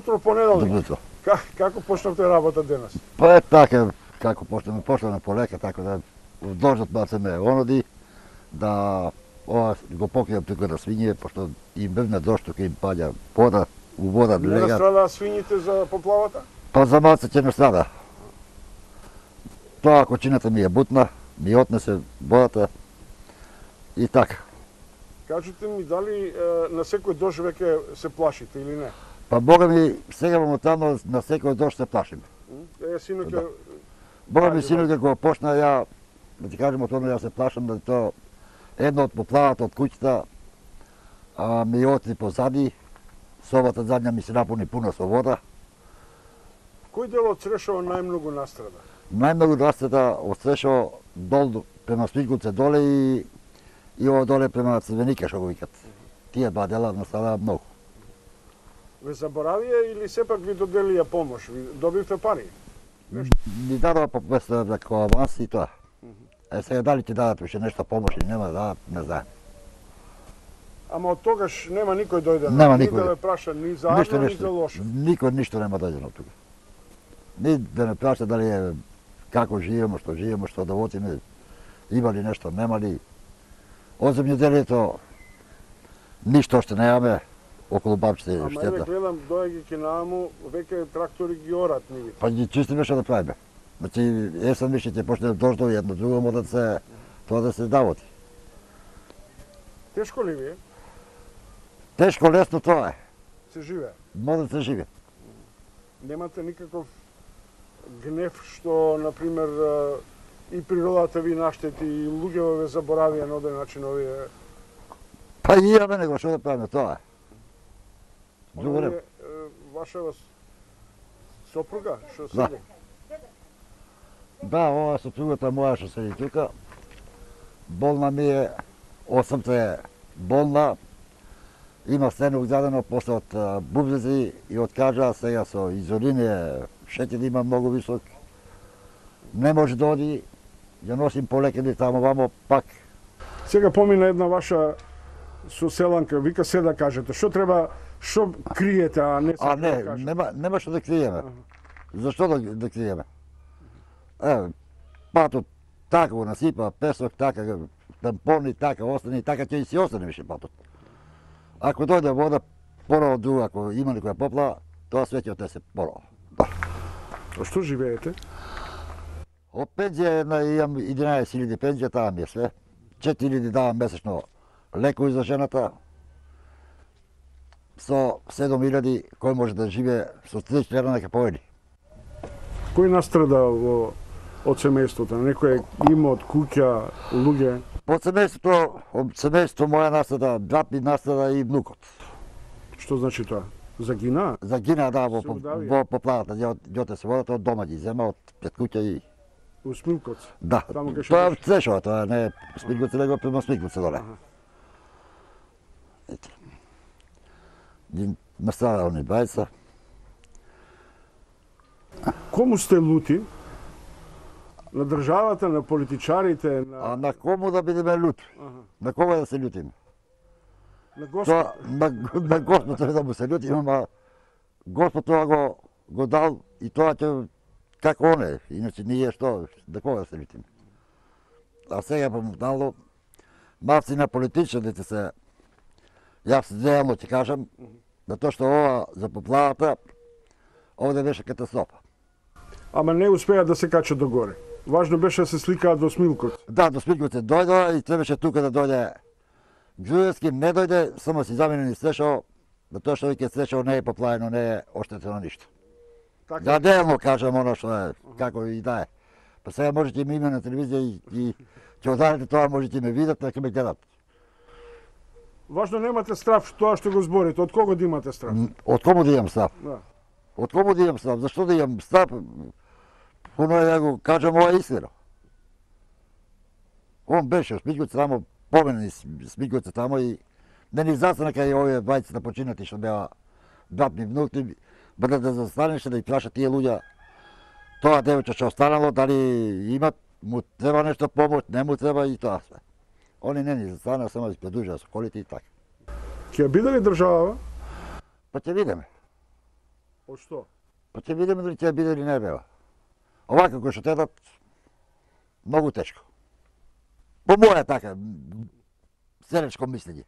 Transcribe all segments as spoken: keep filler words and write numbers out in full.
утро понеделник. Добро утро. Как, како почнавте работа денес? Па е така, како почнеме, почнеме полека, така да должат бацаме оноди, да ова го покријам тука на свиње, пошто им бевна дошто кај им паѓа вода, у вода Не легат. настрадаа свињите за поплавата? Па за малце ќе не страда. Тоа кочината ми е бутна, ми отнесе водата и така. Кажете ми дали е, на секој дожд веќе се плашите или не? Па бога ми, сега моментално на секој дожд се плашим. Е, синоќа... Да. Бога ми Ајде, синот како почна, ја, да ти кажем отворно, ја се плашам да тоа едно од поплавата од куќата а, ми отри позади, собата задња ми се напуни пуна со вода. Кој дел од Црешово најмногу настрада? Најмногу настрада од Црешово дол према Смилковце доле и и ово доле према Црвеника што го викат. Тие два дела настрадаа многу. Ве заборавија или сепак ви доделија помош? Ви добивте пари? Ни дадоа по двеста евра како аванс и тоа. Е сега дали ќе дадат уште нешто помош или нема да дадат, не знаем. Ама од тогаш нема никој дојде. Нема ни никој. да ве праша ни за Ништо, Арно, ни ништо. за лошо. Никој ништо нема дојдено тука. Ни да не праша дали е како живееме, што живееме, што да водиме, има ли нешто, нема ли. Од земјоделието ништо што немаме околу бабчите Ама еве штета. гледам доаѓајќи нааму, веќе трактори ги орат нивите. Па ги чистиме што да правиме. Значи, есен више ќе почне да дождови едно друго, може да се тоа да се давоти. Тешко ли ви е? Тешко лесно тоа е. Се живее? Може да се живе. Немате никаков гнев што, например, и природата ви наштети, и луѓето ве заборавија на оден начин овие... Па и имаме него што да правиме тоа е. Друго Она не. е, е, ваша сопруга што Да. седи? Да, ова сопругата моја што седи тука, болна ми е, осамте е болна, има стенок задено после од а, бубрези и од кажа, сега со изолине, шетен има многу висок, не може да оди, ја носим полекени таму вамо, пак. Сега помина една ваша соселанка, вика се да кажете, што треба, што криете, а не А се не, да кажете? нема, нема што да криеме. Зашто да, да криеме? Е, патот така го насипа, песок така, тампони така, остани така, ќе и си остане више патот. Ако дојде вода, порано друга, ако има некоја поплава, тоа све ќе отнесе порано. А што живеете? Од пензија на имам единаесет илјади пензија, таа ми е све. четири илјади давам месечно лекови за жената. Со седум илјади кој може да живее со тридесет илјади нека поеди. Кој настрада во од семејството? Некој имот, куќа, луѓе? Од семејството, од семејството моја настада, брат ми настада и внукот. Што значи тоа? Загина? Загина да во Се по- удавија? во поплавата, ја јоте се водата од дома ги зема од пред куќа и У Смилковц? да. Таму кај што Тоа е беше? Црешово, тоа не е Смилковце, него према Смилковце доле. Аха. Ето. Ги настада они бајца. Кому сте лути? На државата, на политичарите, А на, на кому да бидеме лути? Аха. На кога да се лутиме? на Господ? Тоа на, на Господ треба да му се лутиме, ама Господ тоа го го дал и тоа ќе како он е, иначе ние што, на кога да се лутиме? А сега помогнало малци на политичарите се, јас реално ќе кажам, на тоа што ова за поплавата, овде беше катастрофа. Ама не успеа да се качат до горе. Важно беше да се сликаат во Смилковц. Да, до Смилковце дојдоа и требаше тука да дојде Груевски, не дојде, само си заменени Црешово, на тоа што веќе Црешово не е поплавено, не е оштетено ништо. Така, Да делно кажам оно што е, како и да е. Па сега можете и ме име на телевизија и, и ќе одарите тоа, можете и ме видат, нека ме гледат. важно немате страв тоа што го зборите. Од кого да имате страв? М, Од кому да имам став? Да. Од кому да имам став? Зашто да имам став? Оно ја го кажам, ова е истина. Он беше, Смилковце тамо, поменени Смилковце тамо и не ни застана кај овие бајци да починати што беа брат ми внуки, бъде да застанеше да ги праша тие луѓа тоа девојче што останало, дали имат, му треба нешто помош, не му треба и тоа све. Они не ни застанаа, само да продужаа со колите и така. Ќе ја биде ли држава? Па ќе видиме. Од што? Па ќе видиме дали ќе биде или не бева. Овака кој што тедат, многу тешко. По моја така, селечко мислење.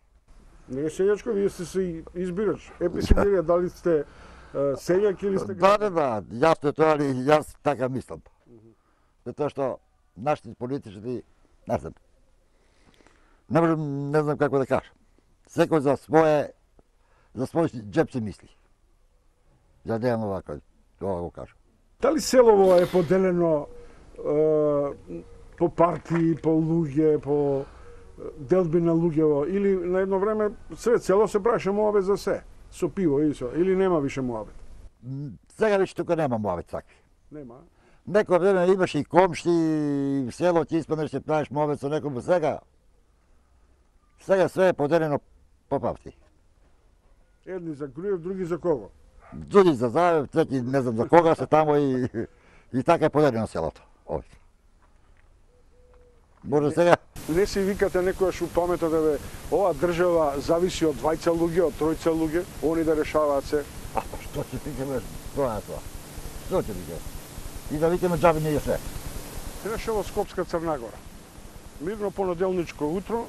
Не е селјачко, вие сте се избирач. Еписимирија, дали сте селјак или сте Да, да, да, јасно е тоа, али јас така мислам. Затоа што нашите политички, не знам, не можам, не знам како да кажам. Секој за своje, за свој джеб си мисли. За да имам овако, тоа го кажам. Дали селово е поделено е, по партии, по луѓе, по делби на луѓево, или на едно време сред село се правеше муабет за се, со пиво и со, или нема више муабет? Сега веќе тука нема муабет такви. Нема. Некој време имаше и комши, и в село ти испаднеш се правиш муабет со некој, сега сега све е поделено по партии. Едни за Груев, други за кого? Други за Заев, трети не знам за кога се тамо и и така е поделено селото. Овде. Може сега Не си викате некојаш у паметот да бе, ова држава зависи од двајца луѓе, од тројца луѓе, они да решаваат се. А што ќе викаме тоа тоа? Што ќе викаме? И да викаме џаби не е се. Се решава Скопска Црна Гора. Мирно понеделничко утро,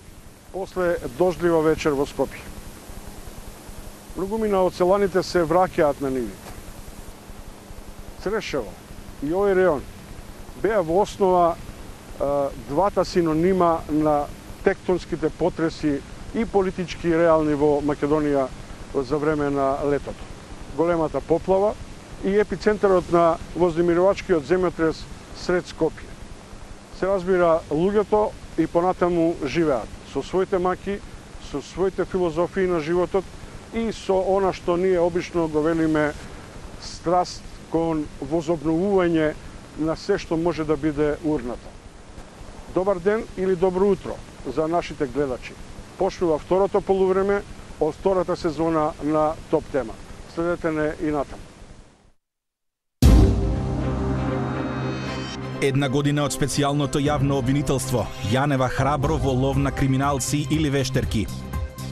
после дождлива вечер во Скопје. Многумина од селаните се враќаат на нивите. Црешево и овој реон беа во основа двата синонима на тектонските потреси и политички и реални во Македонија за време на летото. Големата поплава и епицентарот на вознемирувачкиот земјотрес сред Скопје. Се разбира, луѓето и понатаму живеат со своите маки, со своите филозофии на животот и со она што ние обично го велиме страст кон возобновување на се што може да биде урнато. Добар ден или добро утро за нашите гледачи. Почнува второто полувреме од втората сезона на Топ Тема. Следете не и натаму. Една година од специјалното јавно обвинителство. Јанева храбро во лов на криминалци или вештерки.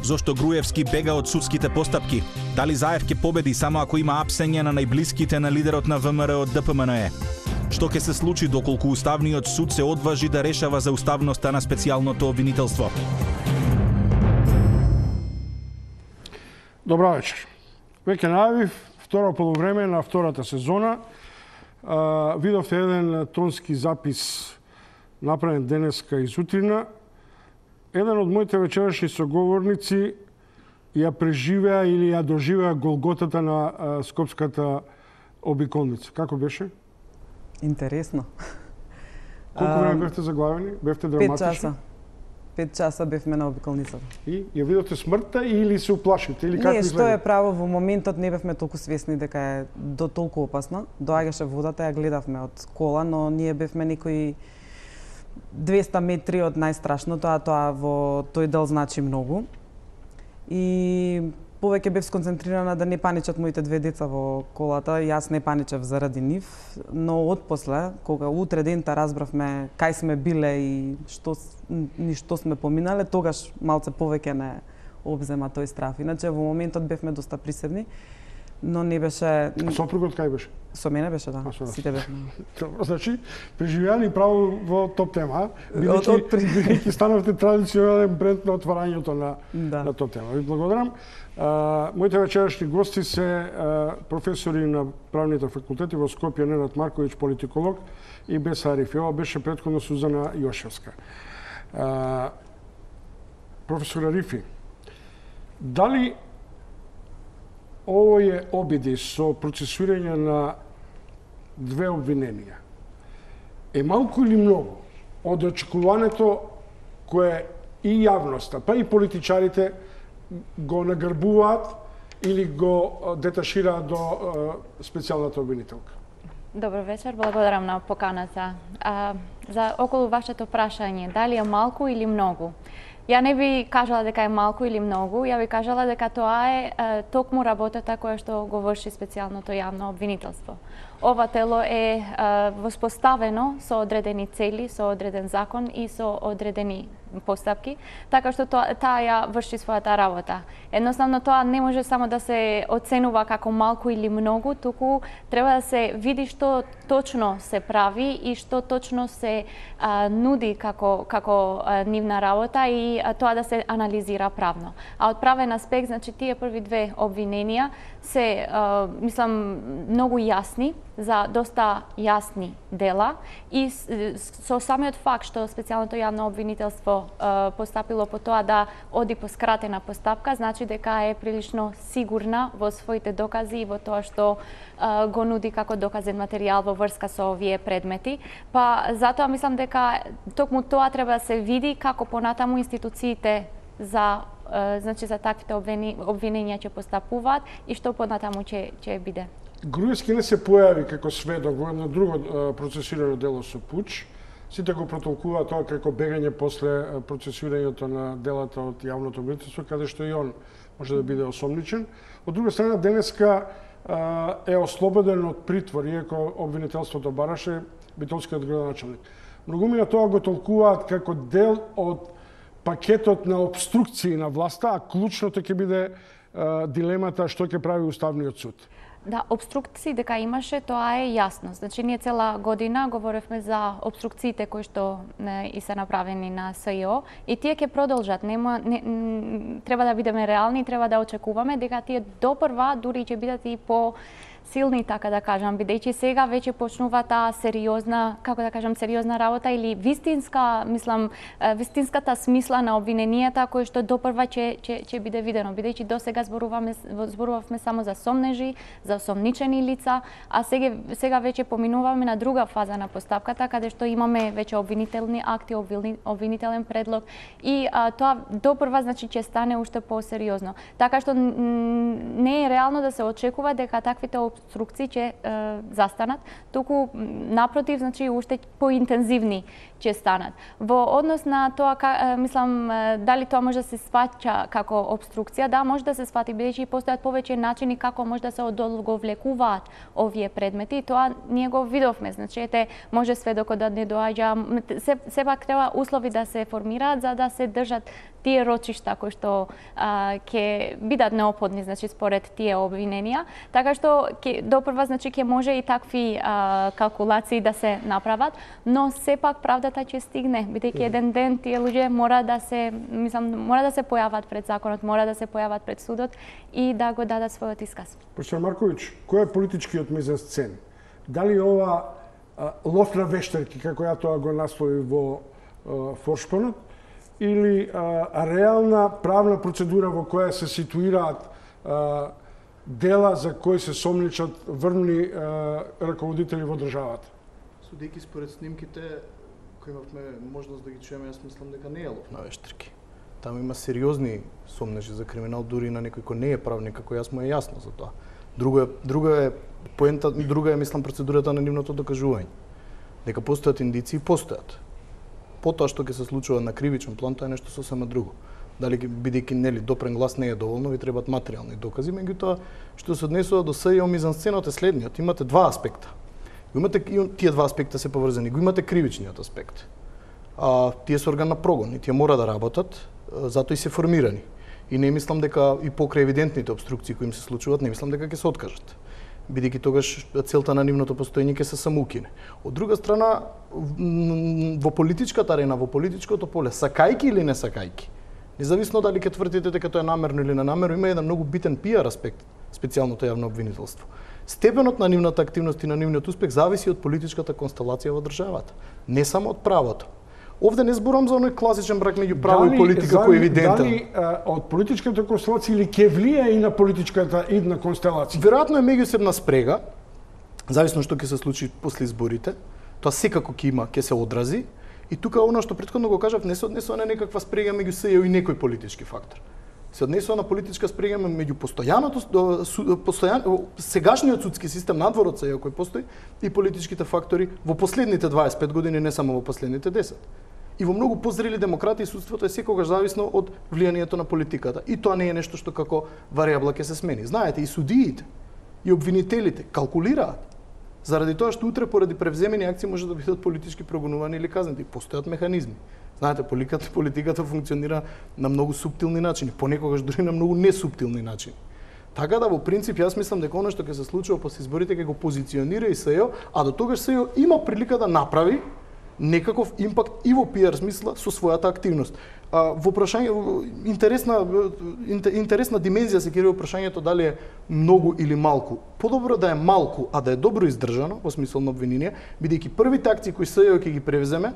Зошто Груевски бега од судските постапки? Дали Заев ќе победи само ако има апсење на најблиските на лидерот на ВМРО од ДПМНЕ? Што ќе се случи доколку Уставниот суд се одважи да решава за уставноста на специјалното обвинителство? Добра вечер. Веќе најавив второ полувреме на втората сезона. Uh, видовте еден тонски запис направен денеска и сутрина. Еден од моите вечерашни соговорници ја преживеа или ја доживеа голготата на uh, Скопската обиколница. Како беше? Интересно. Колку време бевте заглавени? Бевте драматични? Пет часа. Пет часа бевме на обиколницата. И ја видовте смртта или се уплашите? Или не, што е право, во моментот не бевме толку свесни дека е до толку опасно. Доаѓаше водата, ја гледавме од кола, но ние бевме некои двеста метри од најстрашното, а тоа во тој дел значи многу. И повеќе бев сконцентрирана да не паничат моите две деца во колата, јас не паничев заради нив, но отпосле, кога утре дента разбравме кај сме биле и што ни што сме поминале, тогаш малце повеќе не обзема тој страф. Иначе во моментот бевме доста присебни, но не беше... А сопругот кај беше? Со мене беше, да. Сите бевме. Добро, значи, преживеали право во Топ Тема, бидејќи станавте традиционален бренд на отварањето на, да. на Топ Тема. Ви благодарам. Uh, моите вечерашни гости се uh, професори на правните факултети во Скопје, Ненад Марковиќ, политиколог, и Беса Арифи. Ова беше претходно Сузана Јошевска. Uh, професор Арифи, дали овие обиди со процесуирање на две обвиненија е малку или многу од очекувањето кое и јавноста, па и политичарите го нагрбуваат или го деташираат до специјалната обвинителка? Добро вечер, благодарам на поканата. А, за околу вашето прашање, дали е малку или многу? Ја не би кажала дека е малку или многу, ја би кажала дека тоа е, е токму работата која што го врши специјалното јавно обвинителство. ова тело е воспоставено со одредени цели, со одреден закон и со одредени постапки, така што тоа, таа ја врши својата работа. Едноставно тоа не може само да се оценува како малку или многу, туку треба да се види што точно се прави и што точно се а, нуди како како а, нивна работа и а, тоа да се анализира правно. А од правен аспект, значи тие први две обвиненија се а, мислам многу јасни, за доста јасни дела и со самиот факт што специјалното јавно обвинителство постапило по тоа да оди по скратена постапка, значи дека е прилично сигурна во своите докази и во тоа што а, го нуди како доказен материјал во врска со овие предмети. Па затоа мислам дека токму тоа треба да се види како понатаму институциите за а, значи за таквите обвиненија ќе постапуваат и што понатаму ќе ќе биде. Груевски не се појави како сведок во едно друго процесирано дело со пуч. Сите го протолкуваат тоа како бегање после процесирањето на делата од јавното обвинителство, каде што и он може да биде осомничен. Од друга страна, денеска е ослободен од притвор, иако обвинителството бараше битолскиот градоначалник. Многумина тоа го толкуваат како дел од пакетот на обструкции на власта, а клучното ќе биде дилемата што ќе прави Уставниот суд. Да, обструкции дека имаше, тоа е јасно. Значи, ние цела година говоревме за обструкциите кои што не, и се направени на СЈО и тие ќе продолжат. Нема, не, треба да бидеме реални, треба да очекуваме дека тие допрва дури ќе бидат и по силни, така да кажам, бидејќи сега веќе почнува таа сериозна, како да кажам, сериозна работа или вистинска, мислам, вистинската смисла на обвиненијата кои што допрва ќе ќе ќе биде видено, бидејќи досега зборуваме зборувавме само за сомнежи, за осомничени лица, а сега сега веќе поминуваме на друга фаза на постапката каде што имаме веќе обвинителни акти, обвинителен предлог и а, тоа допрва значи ќе стане уште посериозно. Така што не е реално да се очекува дека таквите обструкции ќе е, застанат, туку напротив, значи уште поинтензивни ќе станат. Во однос на тоа, ка, е, мислам, е, дали тоа може да се сваќа како обструкција, да, може да се свати, бидејќи постојат повеќе начини како може да се одолговлекуваат овие предмети, и тоа ние го видовме, значи ете, може сведокот да не доаѓа, се, сепак треба услови да се формираат за да се држат тие рочишта кои што а, ќе бидат неопходни, значи според тие обвиненија, така што ке, допрва значи ќе може и такви а, калкулации да се направат, но сепак правдата ќе стигне, бидејќи еден ден тие луѓе мора да се, мислам, мора да се појават пред законот, мора да се појават пред судот и да го дадат својот исказ. Професор Марковиќ, кој е политичкиот мизансцен? Дали ова а, лов на вештерки, како ја тоа го наслови во а, Форшпонот, или а, реална правна процедура во која се ситуираат а, дела за кои се сомничат врвни а, раководители во државата? Судејќи според снимките кои имавме можност да ги чуеме, јас мислам дека не е лов на вештерки. Таму има сериозни сомнежи за криминал, дури на некој кој не е правник, како јас му е јасно за тоа. Друго е, друго е поента, друга е мислам процедурата на нивното докажување. Дека постојат индиции, постојат. Потоа што ќе се случува на кривичен план, тоа е нешто сосема друго. Дали бидејќи нели допрен глас не е доволно, ви требаат материјални докази, меѓутоа што се однесува до СЈО мизансценот е следниот. Имате два аспекта. Имате тие два аспекта се поврзани. Го имате кривичниот аспект. А тие се орган на прогон и тие мора да работат, затоа и се формирани. И не мислам дека и покрај евидентните обструкции кои им се случуваат, не мислам дека ќе се откажат. Бидејќи тогаш целта на нивното постоење ќе се самоукине. Од друга страна, во политичката арена, во политичкото поле, сакајки или не сакајки, независно дали ќе тврдите дека тоа е намерно или ненамерно, има еден многу битен пиар аспект, специјалното јавно обвинителство. Степенот на нивната активност и на нивниот успех зависи од политичката констелација во државата, не само од правото. Овде не зборам за оној класичен брак меѓу право дали, и политика кој е евидентен. Дали а, од политичката констелација или ќе влие и на политичката идна констелација? Веројатно е меѓусебна спрега, зависно што ќе се случи после изборите, тоа секако ќе има, ќе се одрази, и тука оно што претходно го кажав, не се однесува на некаква спрега меѓу СЈО и некој политички фактор. Се однесува на политичка спрега меѓу постојаното постојан сегашниот судски систем надвор од СЈО кој постои и политичките фактори во последните дваесет и пет години, не само во последните десет. И во многу позрели демократии судството е секогаш зависно од влијанието на политиката. И тоа не е нешто што како варијабла ќе се смени. Знаете, и судиите, и обвинителите калкулираат. заради тоа што утре поради превземени акции може да бидат политички прогонувани или казнети. Постојат механизми. Знаете, политиката, политиката функционира на многу суптилни начини, понекогаш дури на многу несуптилни начини. Така да во принцип јас мислам дека она што ќе се случува после изборите ќе го позиционира и СЈО, а до тогаш СЈО има прилика да направи некаков импакт и во пиар смисла со својата активност. А, во прашање интересна интересна димензија се кери во прашањето дали е многу или малку. Подобро да е малку, а да е добро издржано во смисол на обвинение, бидејќи првите акции кои СЈО ќе ги превземе,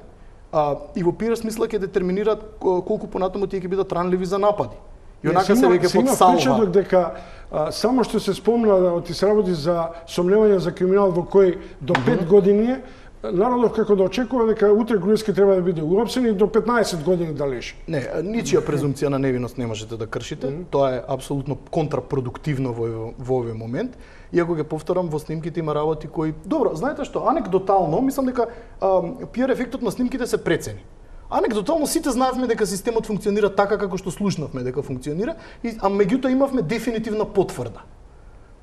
а, и во пиар смисла ќе детерминираат колку понатаму тие ќе бидат ранливи за напади. И онака се веќе под салва. Впечаток дека а, само што се спомна да оти се работи за сомневање за криминал во кој до пет години народов како да очекува дека утре Груевски треба да биде уапсен и до петнаесет години да лежи. Не, ничија презумпција на невиност не можете да кршите. Mm -hmm. Тоа е апсолутно контрапродуктивно во, во овој момент. Иако ќе повторам, во снимките има работи кои... Добро, знаете што, анекдотално, мислам дека а, пиар ефектот на снимките се прецени. Анекдотално сите знаевме дека системот функционира така како што слушнавме дека функционира, и, а меѓутоа имавме дефинитивна потврда.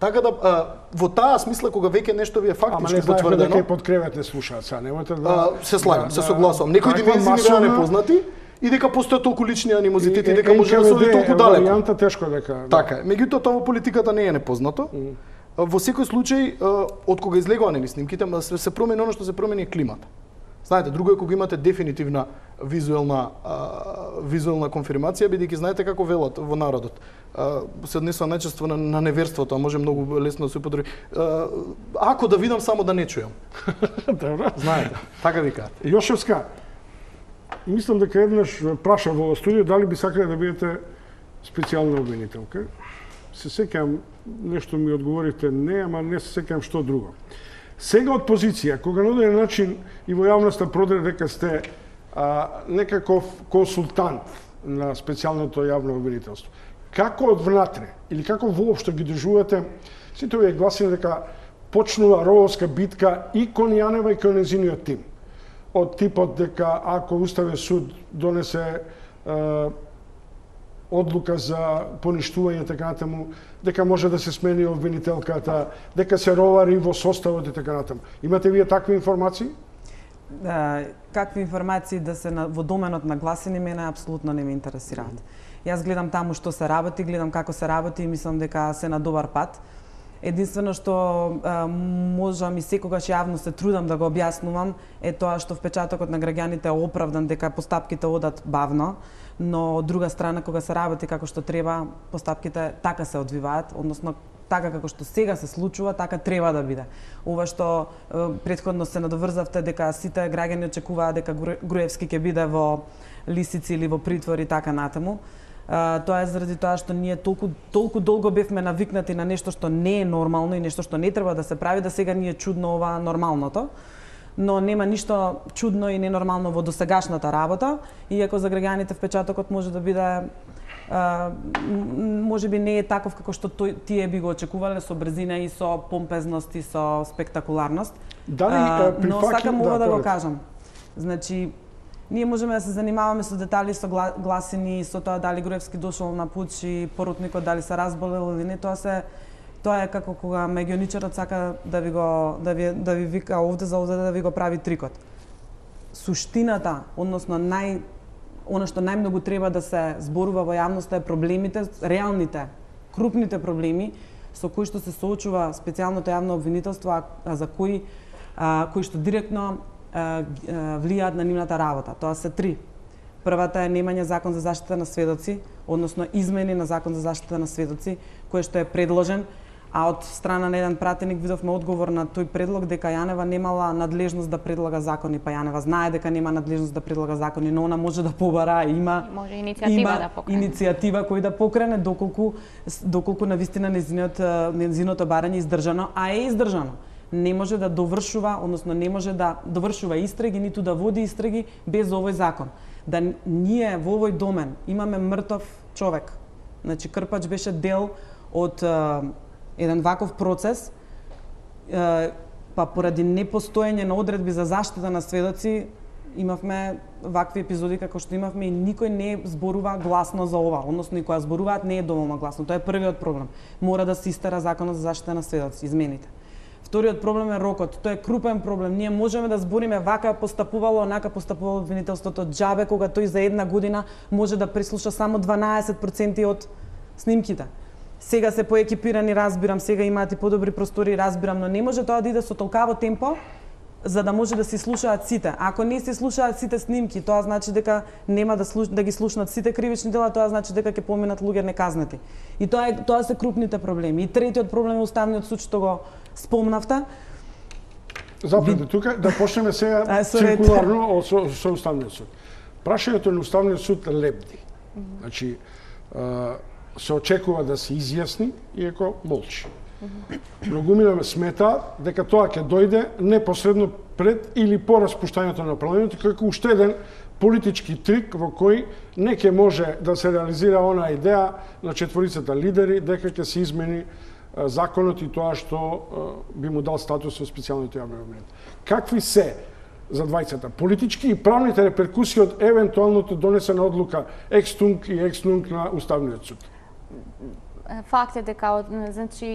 Така да а, во таа смисла кога веќе нешто ви е фактички потврдено. Ама не знаеме дека и под кревет не слушаат, са немате да... А, се слагам, да, се согласувам. Некои димензии ми беа непознати и дека постојат толку лични анимозитети, дека може да се оди толку далеко. Варијанта тешко дека... Да. Така е. Меѓутоа тоа во политиката не е непознато. Mm. Во секој случај, од кога излегува нели снимките, се, се промени оно што се промени е климата. Знаете, друго е кога имате дефинитивна визуелна а, визуелна конфирмација, бидејќи знаете како велат во народот. А, се однесува најчесто на, на неверството, а може многу лесно да се употреби. Ако да видам, само да не чујам. Добро. Знаете, така викаат. Јошевска, мислам дека еднаш праша во студио дали би сакале да бидете специјална обвинителка. Се сеќавам, нешто ми одговорите не, ама не се сеќавам што друго. Сега од позиција, кога на одреден начин и во јавноста продре дека сте а, некаков консултант на специјалното јавно обвинителство, како од внатре, или како воопшто ги држувате, сите овие гласини дека почнува рововска битка и кон Јанева и кон незиниот тим. Од типот дека ако Уставен суд донесе а, одлука за поништување така натаму, дека може да се смени обвинителката, дека се ровари во составот и така натаму. Имате вие такви информации? Да, какви информации да се на, во доменот на гласини мене апсолутно не ме интересираат. Mm -hmm. Јас гледам таму што се работи, гледам како се работи и мислам дека се на добар пат. Единствено што а, можам и секогаш јавно се трудам да го објаснувам е тоа што впечатокот на граѓаните е оправдан дека постапките одат бавно, но од друга страна кога се работи како што треба, постапките така се одвиваат, односно така како што сега се случува, така треба да биде. Ова што е, претходно се надоврзавте дека сите граѓани очекуваат дека Груевски ќе биде во лисици или во притвор и така натаму. Uh, тоа е заради тоа што ние толку толку долго бевме навикнати на нешто што не е нормално и нешто што не треба да се прави, да сега ни е чудно ова нормалното. Но нема ништо чудно и ненормално во досегашната работа, иако за граѓаните впечатокот може да биде uh, може би не е таков како што тој, тие би го очекувале, со брзина и со помпезност и со спектакуларност. Дали uh, но сакам ова да, да го кажам. Значи ние можеме да се занимаваме со детали, со гласини, со тоа дали Груевски дошол на пуч и поротникот дали се разболел или не, тоа се тоа е како кога мегионичарот сака да ви го да ви да ви вика овде за овде да ви го прави трикот. Суштината, односно нај она што најмногу треба да се зборува во јавноста е проблемите, реалните, крупните проблеми со кои што се соочува специјалното јавно обвинителство, а, а за кои а, кои што директно влијаат на нивната работа. Тоа се три. Првата е немање закон за заштита на сведоци, односно измени на закон за заштита на сведоци, кој што е предложен, а од страна на еден пратеник видовме одговор на тој предлог дека Јанева немала надлежност да предлага закони, па Јанева знае дека нема надлежност да предлага закони, но она може да побара, има може иницијатива има да покрене. Иницијатива кој да покрене доколку доколку навистина незиниот незиното барање издржано, а е издржано. Не може да довршува, односно не може да довршува истраги, ниту да води истраги без овој закон. Да ние во овој домен имаме мртов човек. Значи Крпач беше дел од е, еден ваков процес, е, па поради непостоење на одредби за заштита на сведоци имавме вакви епизоди како што имавме и никој не зборува гласно за ова, односно и која зборуваат не е доволно гласно. Тоа е првиот проблем. Мора да се истера законот за заштита на сведоци, измените. Вториот проблем е рокот. Тоа е крупен проблем. Ние можеме да збориме вака постапувало, онака постапувало обвинителството. Џабе кога тој за една година може да преслуша само дванаесет проценти од снимките. Сега се поекипирани, разбирам, сега имаат и подобри простори, разбирам, но не може тоа да иде со толкаво темпо за да може да се слушаат сите. Ако не се слушаат сите снимки, тоа значи дека нема да слуш... да ги слушнат сите кривични дела, тоа значи дека ќе поминат луѓе неказнати. И тоа е тоа се крупните проблеми. И третиот проблем е Уставниот суд што го спомнавте. Запрете Би... тука да почнеме сега а, циркуларно со, со Уставниот суд. Прашањето на Уставниот суд лебди. Mm -hmm. Значи се очекува да се изјасни, иако молчи. Многумина смета дека тоа ќе дојде непосредно пред или по распуштањето на парламентот како уште еден политички трик во кој не ќе може да се реализира онаа идеја на четворицата лидери дека ќе се измени законот и тоа што би му дал статус во специјалните јавни обвинители. Какви се за двајцата политички и правните реперкусии од евентуалното донесена одлука екс-тунк и екс-нунк на Уставниот суд? Факт е дека значи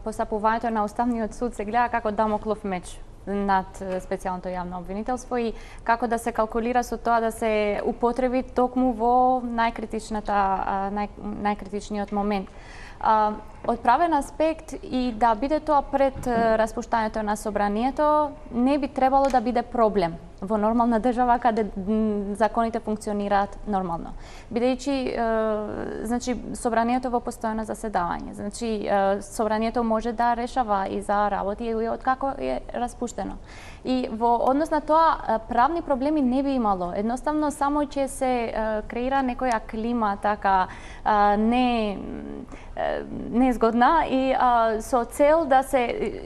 постапувањето на Уставниот суд се гледа како дамоклов меч над специјалното јавно обвинителство и како да се калкулира со тоа да се употреби токму во најкритичната нај, најкритичниот момент. А, од правен аспект и да биде тоа пред распуштањето на собранието не би требало да биде проблем во нормална држава каде законите функционираат нормално. Бидејќи значи собранието во постојано заседавање, значи собранието може да решава и за работи и од како е распуштено. И во однос на тоа правни проблеми не би имало. Едноставно само ќе се креира некоја клима така не незгодна и а, со цел да се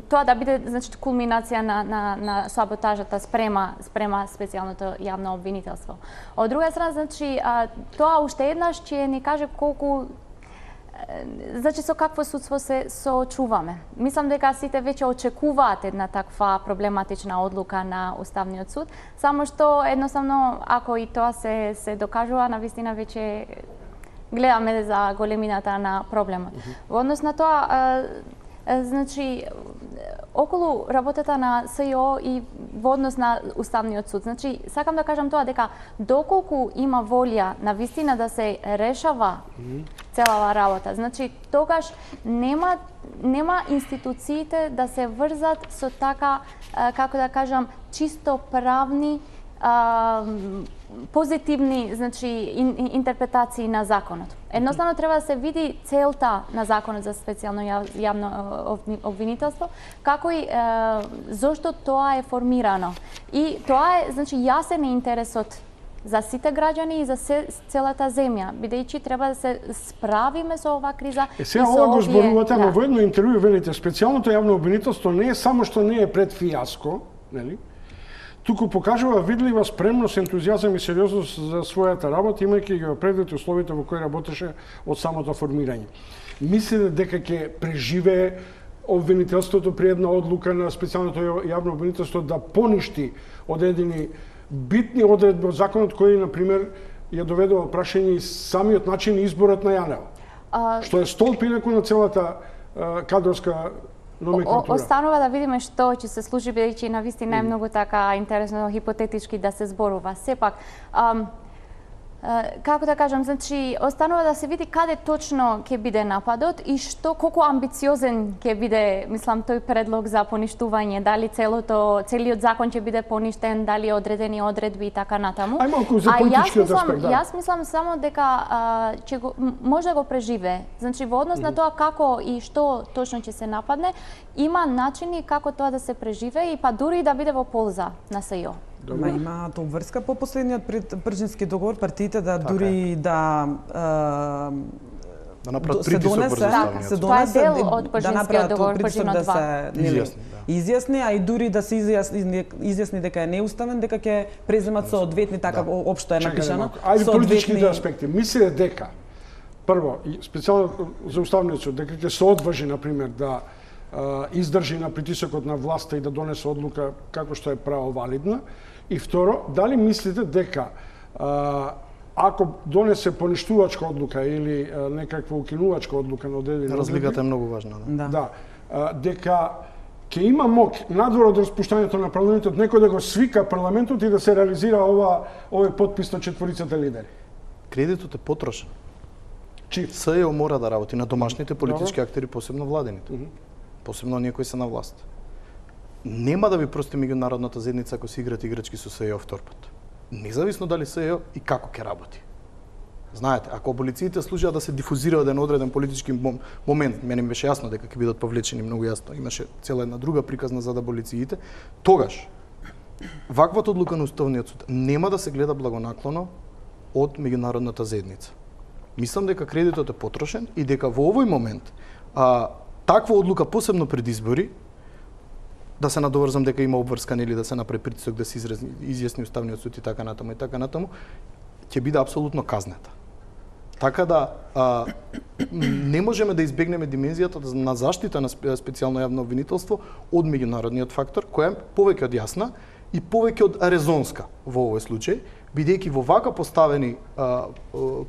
тоа да биде значи кулминација на на на саботажата спрема спрема специјалното јавно обвинителство. Од друга страна значи а, тоа уште еднаш ќе ни каже колку значи со какво судство се соочуваме. Мислам дека сите веќе очекуваат една таква проблематична одлука на Уставниот суд, само што едноставно ако и тоа се се докажува, навистина веќе гледаме за големината на проблемот. Uh -huh. Во однос на тоа, а, а, значи, околу работата на СЈО и во однос на Уставниот суд, значи, сакам да кажам тоа дека доколку има волја на вистина да се решава uh -huh. целава работа, значи, тогаш нема нема институциите да се врзат со така, а, како да кажам, чисто правни а, позитивни, значи, ин, интерпретации на законот. Едноставно треба да се види целта на законот за специјално јавно обвинителство, како и е, зошто тоа е формирано. И тоа е, значи, јасен е интересот за сите граѓани и за се, целата земја, бидејќи треба да се справиме со оваа криза. Е, сега ова го зборувате, да. Но во едно интервју велите, специјалното јавно обвинителство не е само што не е пред фијаско, нели? Туку покажува видлива спремност, ентузијазам и сериозност за својата работа, имајќи ги предвид условите во кои работеше од самото формирање. Мислите дека ќе преживее обвинителството при една одлука на специјалното јавно обвинителство да поништи одредени битни одредби од законот кои, например, ја доведува прашање и самиот начин изборот на Јанева, а... што е столб инаку на целата а, кадровска номенклатура. Останува да видиме што ќе се случи, бидејќи навистина е многу така интересно хипотетички да се зборува. Сепак, ам, како да кажам, значи, останува да се види каде точно ќе биде нападот и што, колку амбициозен ќе биде, мислам, тој предлог за поништување, дали целото, целиот закон ќе биде поништен, дали одредени одредби и така натаму. Ај малку за политичкиот аспект, да. Јас мислам само дека а, ќе го, може да го преживее. Значи, во однос mm -hmm. на тоа како и што точно ќе се нападне, има начини како тоа да се преживее и па дури да биде во полза на СЈО. Ма има тоа врска по последниот пржински договор, партиите да така дури е. да а, да направат притисок врз така, се донесе дел од пржинскиот договор, пржинот два. Да се изјасни, да. изјасни, а и дури да се изјасни, изјасни дека е неуставен, дека ќе преземат соодветни, така да. Општо е напишано. Ајде политичките аспекти. Мислите дека прво, специјално за Уставниот суд, дека ќе се одважи, например, да а, издржи на притисокот на власта и да донесе одлука како што е правовалидна. И второ, дали мислите дека а, ако донесе поништувачка одлука или а, некаква укинувачка одлука на одредени разликата е многу важна, да. Да, а, дека ќе има мок надвор од распуштањето на парламентот, некој да го свика парламентот и да се реализира ова овој потпис на четворицата лидери? Кредитот е потрошен. Чиф. СЈО мора да работи на домашните политички актери, посебно владените. Mm -hmm. Посебно оние кои се на власт. Нема да ви прости меѓународната заедница ако се играат играчки со СЈО втор пат. Независно дали СЈО и како ќе работи. Знаете, ако аболициите служат да се дифузира еден одреден политички момент, мене ми беше јасно дека ќе бидат повлечени многу јасно, имаше цела една друга приказна за аболициите, тогаш ваквата одлука на Уставниот суд нема да се гледа благонаклоно од меѓународната заедница. Мислам дека кредитот е потрошен и дека во овој момент а, таква одлука, посебно пред избори, да се надоврзам дека има обврскан или да се направи притисок да се изјасни Уставниот суд и така натаму и така натаму, ќе биде апсолутно казнета. Така да а, не можеме да избегнеме димензијата на заштита на специјално јавно обвинителство од меѓународниот фактор, која е повеќе од јасна и повеќе од резонска во овој случај, бидејќи во вака поставени а, а,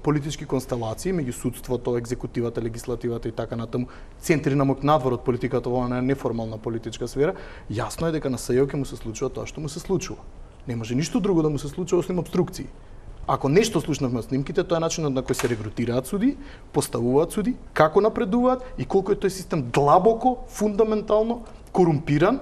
политички констелации меѓу судството, екзекутивата, легислативата и така натаму, центри на моќ надвор од политиката во на неформална политичка сфера, јасно е дека на СЈО ќе му се случува тоа што му се случува. Не може ништо друго да му се случува освен обструкции. Ако нешто слушнавме од снимките, тоа е начинот на кој се регрутираат суди, поставуваат суди, како напредуваат и колку е тој систем длабоко, фундаментално корумпиран,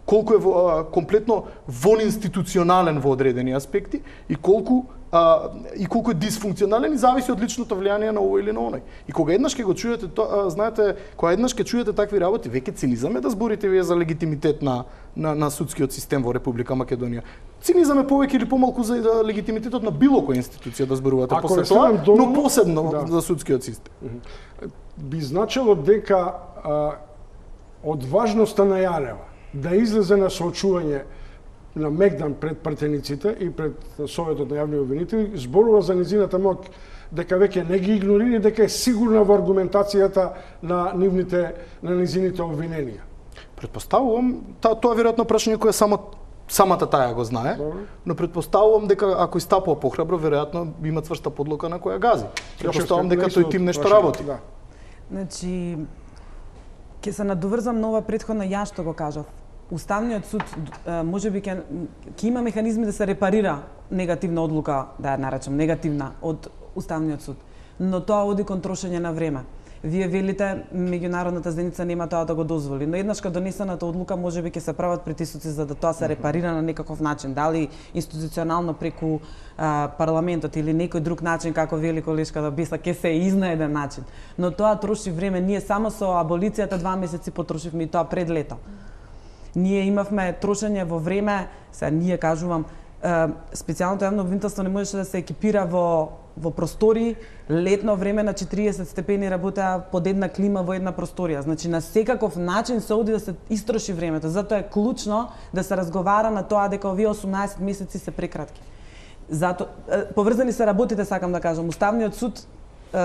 колку е во, комплетно вонинституционален во одредени аспекти и колку а, и колку е дисфункционален и зависи од личното влијание на овој или на оној. И кога еднаш ќе го чуете тоа, знаете, кога еднаш ќе чуете такви работи, веќе цинизам е да зборите вие за легитимитет на на на судскиот систем во Република Македонија. Цинизам е повеќе или помалку за легитимитетот на било која институција да зборувате после тоа, доволно, но посебно да. За судскиот систем. Би значило дека а, од важноста на Јанева да излезе на соочување на мегдан пред пратениците и пред Советот на јавни обвинители, зборува за низината моќ дека веќе не ги игнорира, дека е сигурна во аргументацијата на нивните на низините обвиненија. Предпоставувам, та, тоа веројатно прашање кое само самата таја го знае, Добре. Но предпоставувам дека ако истапува похрабро, веројатно има цврста подлука на која гази. Предпоставувам дека тој тим нешто работи. Да. Значи, ќе се надоврзам на ова претходно ја што го кажав. Уставниот суд можеби ќе ќе има механизми да се репарира негативна одлука, да ја наречам негативна од Уставниот суд, но тоа оди кон трошење на време. Вие велите меѓународната заедница нема тоа да го дозволи, но еднаш кога донесената одлука можеби ќе се прават притисоци за да тоа се репарира на некаков начин, дали институционално преку а, парламентот или некој друг начин како вели колешката Биса ќе се изнајде начин. Но тоа троши време, ние само со аболицијата два месеци потрошивме и тоа пред лето. Ние имавме трошење во време, сега ние кажувам, специјалното јавно обвинителство не можеше да се екипира во во простори, летно време на четириесет степени работеа под една клима во една просторија. Значи на секаков начин се оди да се истроши времето. Затоа е клучно да се разговара на тоа дека овие осумнаесет месеци се прекратки. Зато поврзани се работите, сакам да кажам. Уставниот суд е,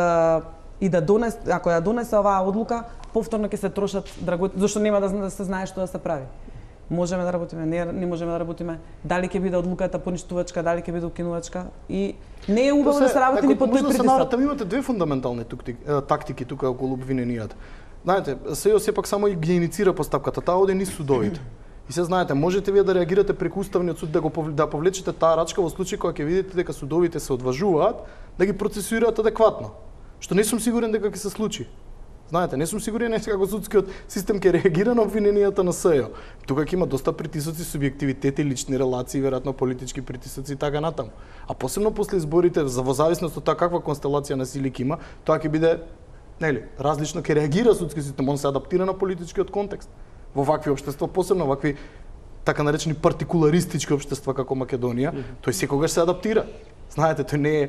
и да донес, ако ја донесе оваа одлука, повторно ќе се трошат драгоцени, зашто нема да, да се знае што да се прави. Можеме да работиме, не, не можеме да работиме, дали ќе биде одлуката поништувачка, дали ќе биде укинувачка и не е убаво да се работи ни под тој притисок. Таму имате две фундаментални тактики тука околу обвиненијата. Знаете, СЈО сепак само ги иницира постапката, таа оди низ судовите. И се знаете, можете вие да реагирате преку Уставниот суд да го да повлечете таа рачка во случај кога ќе видите дека судовите се одважуваат да ги процесуираат адекватно. Што не сум сигурен дека ќе се случи. Знаете, не сум сигурен како судскиот систем ќе реагира на обвиненијата на СЈО. Тука ќе има доста притисоци, субјективитети, лични релации, веројатно политички притисоци и така натаму. А посебно после изборите, за во зависност од тоа каква констелација на сили ќе има, тоа ќе биде, нели, различно ќе реагира судскиот систем, он се адаптира на политичкиот контекст. Во вакви општества, посебно вакви така наречени партикуларистички општества како Македонија, mm -hmm. тој секогаш се адаптира. Знаете, тој не е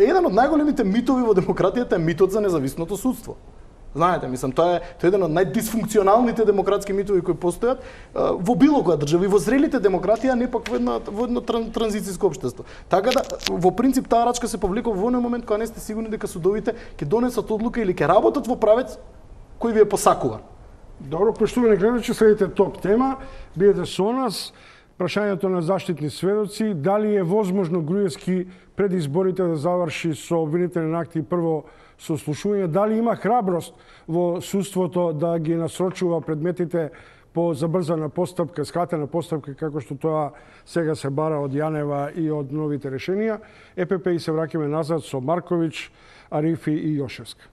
еден од најголемите митови во демократијата е митот за независното судство. Знаете, мислам, тоа е тоа е еден од најдисфункционалните демократски митови кои постојат во било која држава и во зрелите демократија, не пак во една во едно транзицијско општество. Така да во принцип таа рачка се повлекува во оној момент кога не сте сигурни дека судовите ќе донесат одлука или ќе работат во правец кој ви е посакуван. Добро, поштувани гледачи, следите топ тема. Бидете со нас. Прашањето на заштитни сведоци, дали е возможно Груевски пред изборите да заврши со обвинителен акт и прво сослушување, дали има храброст во судството да ги насрочува предметите по забрзана постапка, скратена постапка, како што тоа сега се бара од Јанева и од новите решенија. Е Пе Пе и се враќаме назад со Марковиќ, Арифи и Јошевска.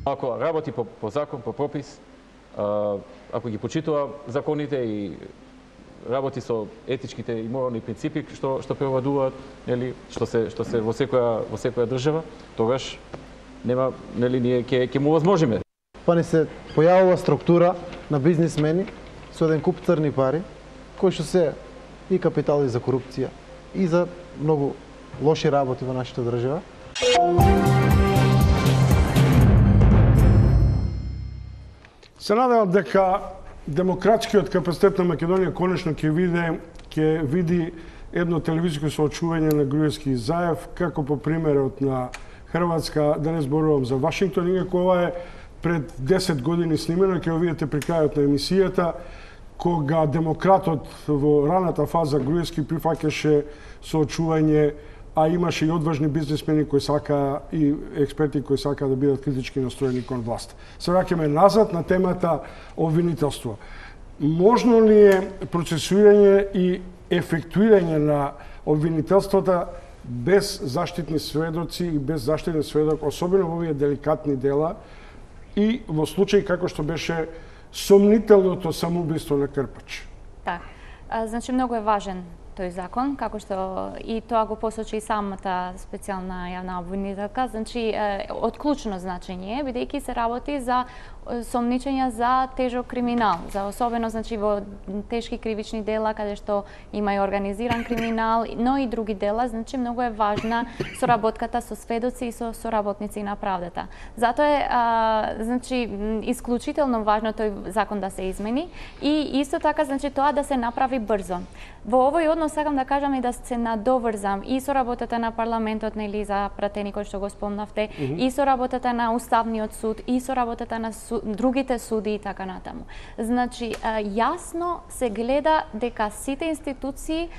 Ако работи по, по закон, по пропис, ако ги почитува законите и работи со етичките и морални принципи што што превладуваат, нели, што се што се во секоја во секоја држава, тогаш нема, нели, ние ќе ќе му возможиме. Па ни се појавува структура на бизнисмени со еден куп црни пари, кои што се и капитали за корупција и за многу лоши работи во нашата држава. Се надевам дека демократскиот капацитет на Македонија конечно ќе види ќе види едно телевизиско соочување на Груевски и Заев, како по примерот на Хрватска, да не зборувам за Вашингтон, иако ова е пред десет години снимено, ќе го видите при крајот на емисијата, кога демократот во раната фаза Груевски прифаќаше соочување, а имаше и одважни бизнисмени кои сака и експерти кои сака да бидат критички настроени кон власт. Се враќаме назад на темата обвинителство. Можно ли е процесуирање и ефектуирање на обвинителството без заштитни сведоци и без заштитен сведок, особено во овие деликатни дела и во случај како што беше сомнителното самоубиство на Крпач? Так, значи многу е важен тој закон, како што и тоа го посочи и самата специјална јавна обвинителка, значи од клучно значење, бидејќи се работи за сомничења за тежок криминал, за особено значи во тешки кривични дела каде што има и организиран криминал, но и други дела, значи многу е важна соработката со сведоци и со соработници на правдата. Затоа е а, значи исклучително важно тој закон да се измени и исто така значи тоа да се направи брзо. Во овој однос сакам да кажам и да се надоврзам и со работата на парламентот, нели, за пратени кој што го спомнавте, mm -hmm. и со работата на Уставниот суд, и со работата на суд, другите суди и така натаму. Значи, јасно се гледа дека сите институции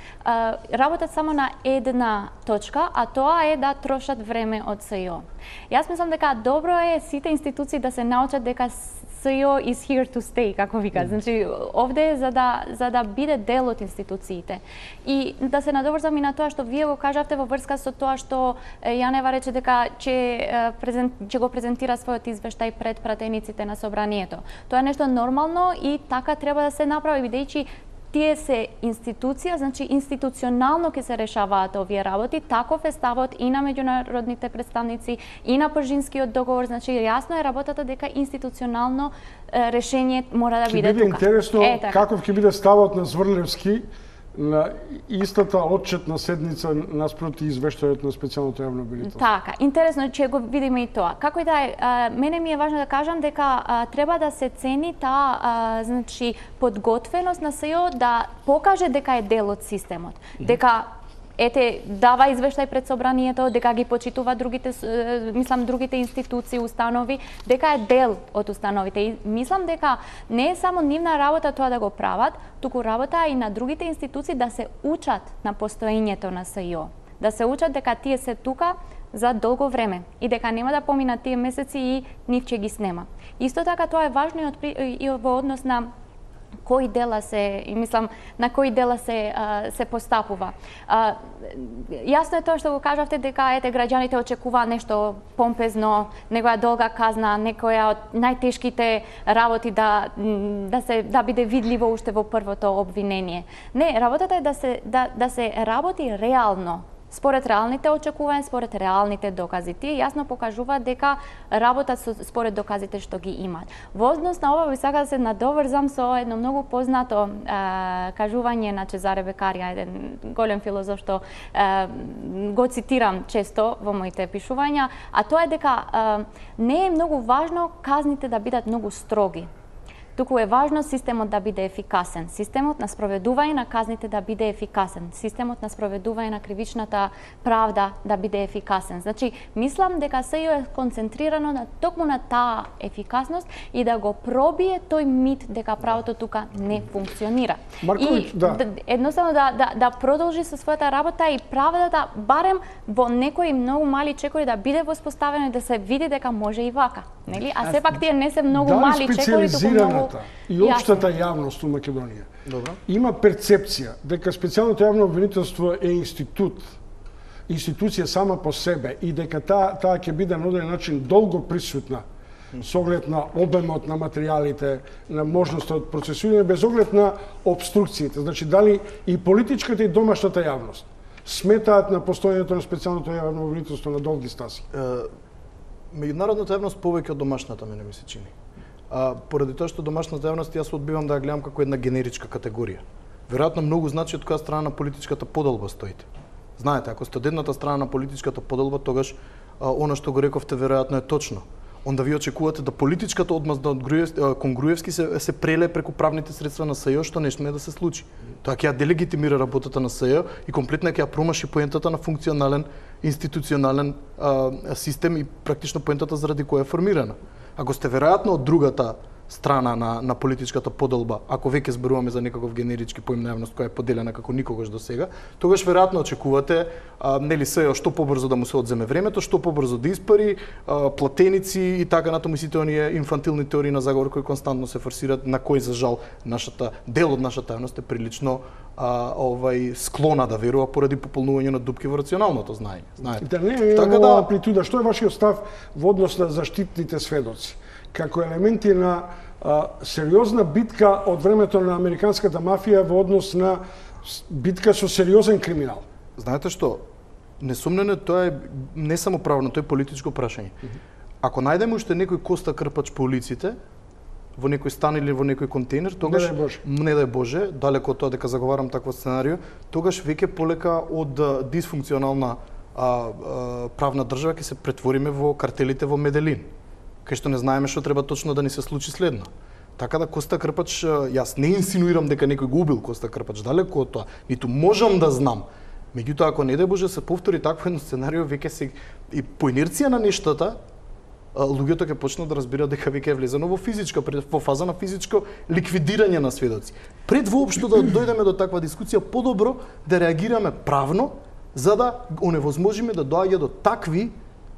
работат само на една точка, а тоа е да трошат време од С И О. Јас мислам дека добро е сите институции да се научат дека С И О is here to stay, како вика. Значи, овде е за да, за да биде дел од институциите. И да се надоврзам и на тоа што вие го кажавте во врска со тоа што Јанева рече дека ќе, презент, ќе го презентира својот извештај пред пратениците на собранието. Тоа е нешто нормално и така треба да се направи, бидејќи тие се институција, значи институционално ќе се решаваат овие работи, таков е ставот и на меѓународните представници, и на Пржинскиот договор, значи јасно е работата дека институционално е, решение мора да биде тука. Ќе биде интересно е, каков ќе биде ставот на Зврлевски на истата отчетна седница наспроти извештајот на специјалното јавно обвинителство. Така, интересно ќе го видиме и тоа. Како и да е, мене ми е важно да кажам дека а, треба да се цени таа а, значи подготвеност на С И О да покаже дека е дел од системот, mm -hmm. дека ете дава извештај пред собранието, дека ги почитува другите, мислам другите институции, установи, дека е дел од установите. И мислам дека не е само нивна работа тоа да го прават, туку работа и на другите институции да се учат на постоењето на С И О. Да се учат дека тие се тука за долго време и дека нема да поминат тие месеци и нив ќе ги снема. Исто така тоа е важно и, од, и во однос на кои дела се, и мислам, на кои дела се а, се постапува. А, јасно е тоа што го кажавте дека ете граѓаните очекуваат нешто помпезно, некоја долга казна, некоја од најтешките работи да да се да биде видливо уште во првото обвинение. Не, работата е да се да да се работи реално. Според реалните очекувања, според реалните докази. Тие јасно покажуваат дека работат со, според доказите што ги имаат. Во однос на ова би сакала да се надоврзам со едно многу познато а, кажување на Чезаре Бекарија, еден голем филозоф што а, го цитирам често во моите пишувања, а тоа е дека а, не е многу важно казните да бидат многу строги. Туку е важно системот да биде ефикасен, системот на спроведување на казните да биде ефикасен, системот на спроведување на кривичната правда да биде ефикасен. Значи, мислам дека С И О е концентрирано на токму на таа ефикасност и да го пробие тој мит дека правото тука не функционира. Марковиќ, и да. едноставно да, да, да продолжи со својата работа и правдата барем во некои многу мали чекори да биде воспоставено и да се види дека може и вака. нели? А сепак тие не се многу мали чекори, туку многу и општата јавност у Македонија Добро. има перцепција дека специјалното јавно обвинителство е институт, институција сама по себе и дека таа таа ќе биде на одреден начин долго присутна со оглед на обемот на материјалите, на можноста од процесирање, без оглед на обструкциите. Значи, дали и политичката и домашната јавност сметаат на постојањето на специјалното јавно обвинителство на долги стаси? Меѓународната јавност повеќе од домашната, мене ми се чини. А, поради тоа што домашната јавност јас одбивам да ја гледам како една генеричка категорија. Веројатно многу значи од која страна на политичката поделба стоите. Знаете, ако сте од едната страна на политичката поделба, тогаш а, она што го рековте веројатно е точно. Онда ви очекувате да политичката одмазда од кон Груевски се, се преле преку правните средства на СЈО, што не сме да се случи. Тоа ќе ја делегитимира работата на СЈО и комплетно ќе ја промаши поентата на функционален институционален а, систем и практично поентата заради која е формирана. Ако сте веројатно од другата страна на, на политичката поделба, ако веќе зборуваме за некаков генерички поим на јавност која е поделена како никогаш до сега, тогаш веројатно очекувате а, нели СЈО што побрзо да му се одземе времето, што побрзо да испари, а, платеници и така натаму сите оние инфантилни теории на заговор кои константно се форсираат, на кои за жал нашата дел од нашата јавност е прилично а, овај склона да верува поради пополнување на дупки во рационалното знаење. Знаете. Да не е така да амплитуда. Што е вашиот став во однос на заштитните сведоци? Како елементи на а, сериозна битка од времето на американската мафија во однос на битка со сериозен криминал. Знаете што? Несумнено тоа е не само правно, тоа е политичко прашање. Mm -hmm. Ако најдеме уште некој Коста Крпач по улиците, во некој стан или во некој контейнер, тогаш не дај Боже, не дај Боже, далеко од тоа дека заговарам такво сценарио, тогаш веќе полека од дисфункционална а, а, правна држава ќе се претвориме во картелите во Меделин, кај што не знаеме што треба точно да ни се случи следно. Така да Коста Крпач, јас не инсинуирам дека некој го убил Коста Крпач, далеко од тоа, ниту можам да знам. Меѓутоа, ако не дај Боже се повтори такво едно сценарио, веќе се и по инерција на нештата, луѓето ќе почнат да разбираат дека веќе е влезено во физичка, во фаза на физичко ликвидирање на сведоци. Пред воопшто да дојдеме до таква дискусија, подобро да реагираме правно, за да оневозможиме да доаѓа до такви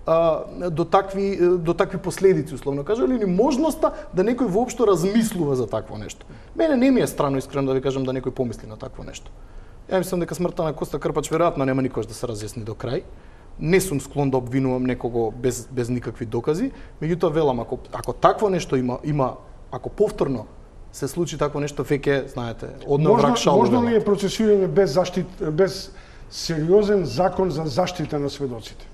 а, до такви до такви последици, условно кажа, или можноста да некој воопшто размислува за такво нешто. Мене не ми е странно, искрено да ви кажам, да некој помисли на такво нешто. Ја мислам дека смртта на Коста Крпач веројатно нема никош да се разјасни до крај. Не сум склон да обвинувам некого без без никакви докази, меѓутоа велам, ако ако такво нешто има има ако повторно се случи такво нешто, веќе знаете, одно враг шал. Можно ли е процесирање без заштит без сериозен закон за заштита на сведоците?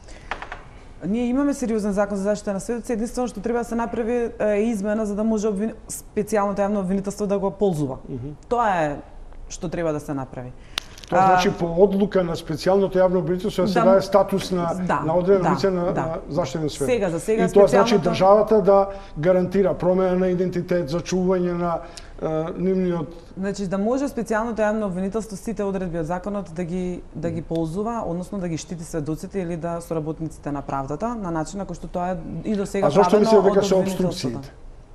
Ние имаме сериозен закон за заштита на сведоци, единствено што треба да се направи е измена за да може обвин... специјалното јавно обвинителство да го ползува. Mm -hmm. Тоа е што треба да се направи. Тоа значи по одлука на специјалното јавно обвинителство да се даде статус на да, на одредено лице да, на, да. на заштитен сведок. Сега за сега и тоа значи специјалното... државата да гарантира промена на идентитет, зачување на uh, нивниот. Значи да може специјалното јавно обвинителство сите одредби од законот да ги да ги ползува, односно да ги штити сведоците или да соработниците на правдата на начин на кој што тоа е и до сега правено. А зошто мислите дека од се обструкциите?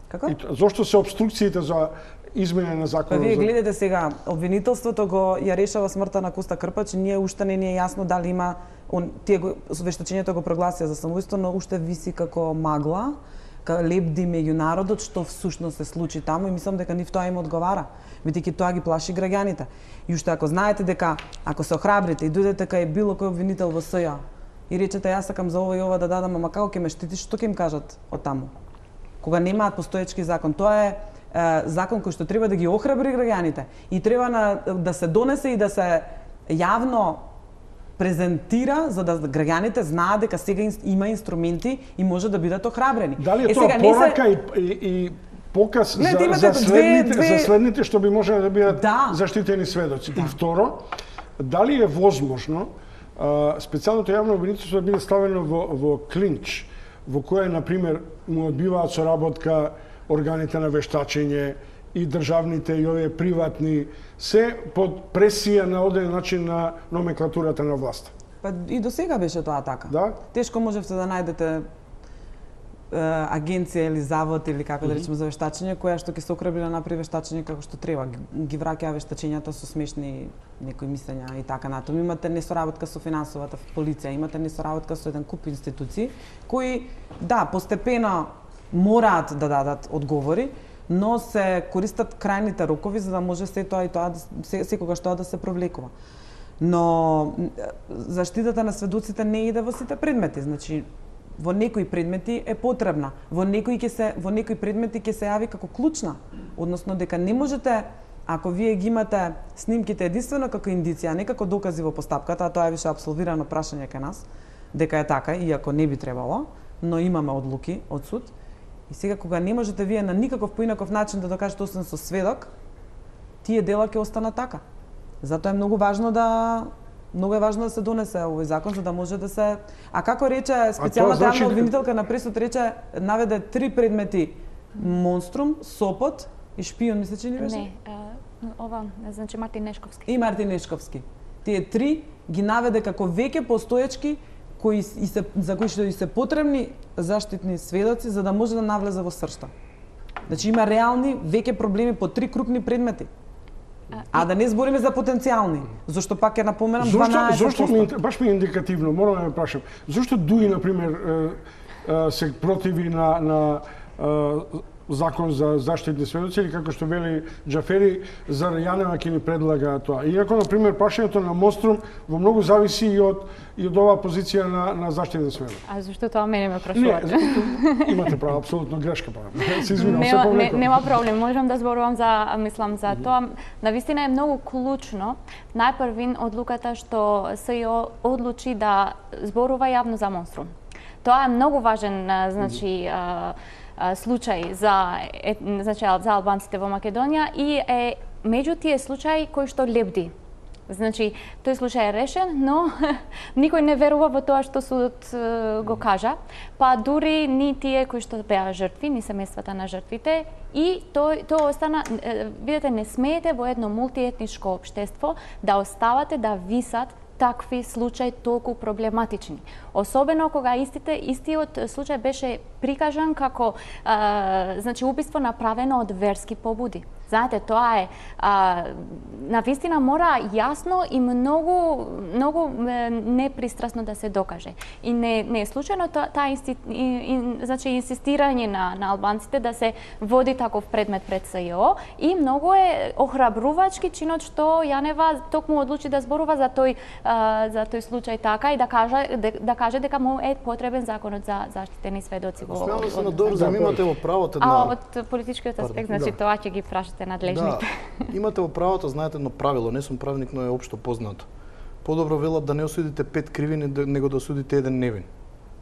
Како? И зошто се обструкциите за измене на законот? Па вие гледате сега, обвинителството го ја решава смртта на Коста Крпач, ние уште не ни е јасно дали има он тие го вештачењето го прогласија за самоубиство, но уште виси како магла, ка лебди меѓу народот што всушност се случи таму и мислам дека нив тоа им одговара, бидејќи тоа ги плаши граѓаните. И уште ако знаете дека ако се охрабрите и дојдете кај било кој обвинител во СЈО и речете јас сакам за ова и ова да дадам, ама како ќе ме штитиш, што ќе им кажат од таму? Кога немаат постоечки закон, тоа е закон кој што треба да ги охрабри граѓаните и треба на, да се донесе и да се јавно презентира за да граѓаните знаат дека сега има инструменти и може да бидат охрабрени. Дали е, е тоа сега, порака се... и, и, и показ Глед, за, за, следните, две, две... за следните што би можеле да бидат да. заштитени сведоци? Да. И второ, дали е возможно а, специјалното јавно обвинителство да биде ставено во, во клинч, во кој, например, му одбиваат соработка органите на вештачење и државните и овие приватни, се под пресија на оден начин на номенклатурата на власт. Па и до сега беше тоа така. Да? Тешко можевте да најдете е, агенција или завод или како mm -hmm. да речеме за вештачење која што ќе се охрабри да направи вештачење како што треба. Ги враќаа вештачењата со смешни некои мислења и така натаму. Имате несоработка со финансовата полиција, имате несоработка со еден куп институции кои да постепено мораат да дадат одговори, но се користат крајните рокови за да може се тоа и тоа се, секогаш тоа да се провлекува. Но заштитата на сведоците не иде во сите предмети, значи во некои предмети е потребна, во некои ќе се во некои предмети ќе се јави како клучна, односно дека не можете, ако вие ги имате снимките единствено како индиција, не како докази во постапката, а тоа е више апсолвирано прашање кај нас, дека е така, иако не би требало, но имаме одлуки од суд. И сега кога не можете вие на никаков поинаков начин да докажете освен со сведок, тие дела ќе останат така. Затоа е многу важно да многу е важно да се донесе овој закон за да може да се. А како рече специјалната значи... јавна обвинителка на пресуд рече наведе три предмети: Монструм, Сопот и Шпион, мисля че не беше? Не, ова значи Мартин Нешковски. И Мартин Нешковски. Тие три ги наведе како веќе постоечки кои и се за кои што и се потребни заштитни сведоци за да може да навлезе во сршта. Значи има реални веќе проблеми по три крупни предмети. А да не збориме за потенцијални, зашто пак ќе напоменам дванаесет проценти. Зошто ми баш ми е индикативно, морам да ме прашам. Зошто Дуи на пример се противи на на закон за заштитни сведоци или како што вели Џафери за Јанева ќе ни предлага тоа. Иако на пример прашањето на Монструм во многу зависи и од и од оваа позиција на на заштитни сведоци. А зашто тоа мене ме прашувате? Не, имате право, апсолутно грешка правам. Се извинувам, се нема, повлекувам. Нема проблем, можам да зборувам за мислам за тоа. Навистина е многу клучно. Најпрвин одлуката што СЈО одлучи да зборува јавно за Монструм. Тоа е многу важен, значи, случај за значи за албанците во Македонија и е меѓу тие случаи кои што лебди. Значи, тој случај е решен, но никој не верува во тоа што судот го кажа, па дури ни тие кои што беа жртви, ни семејствата на жртвите, и тој тоа остана, видете, не смеете во едно мултиетничко општество да оставате да висат такви случаи толку проблематични. Особено кога истите истиот случај беше прикажан како а, значи убиство направено од верски побуди. Знаете, тоа е а, навистина мора јасно и многу многу непристрасно да се докаже. И не не е случајно таа та инсти, значи инсистирање на на албанците да се води таков предмет пред СЈО и многу е охрабрувачки чинот што Јанева токму одлучи да зборува за тој а, за тој случај така и да каже да, да каже дека му е потребен законот за заштитени сведоци во. Смело се надорзам, имате во правото на. А од политичкиот аспект, значи да. Тоа ќе ги прашате надлежните. Да, имате во правото, знаете едно правило, не сум правник, но е општо познато. Подобро велат да не осудите пет криви, него да осудите еден невин.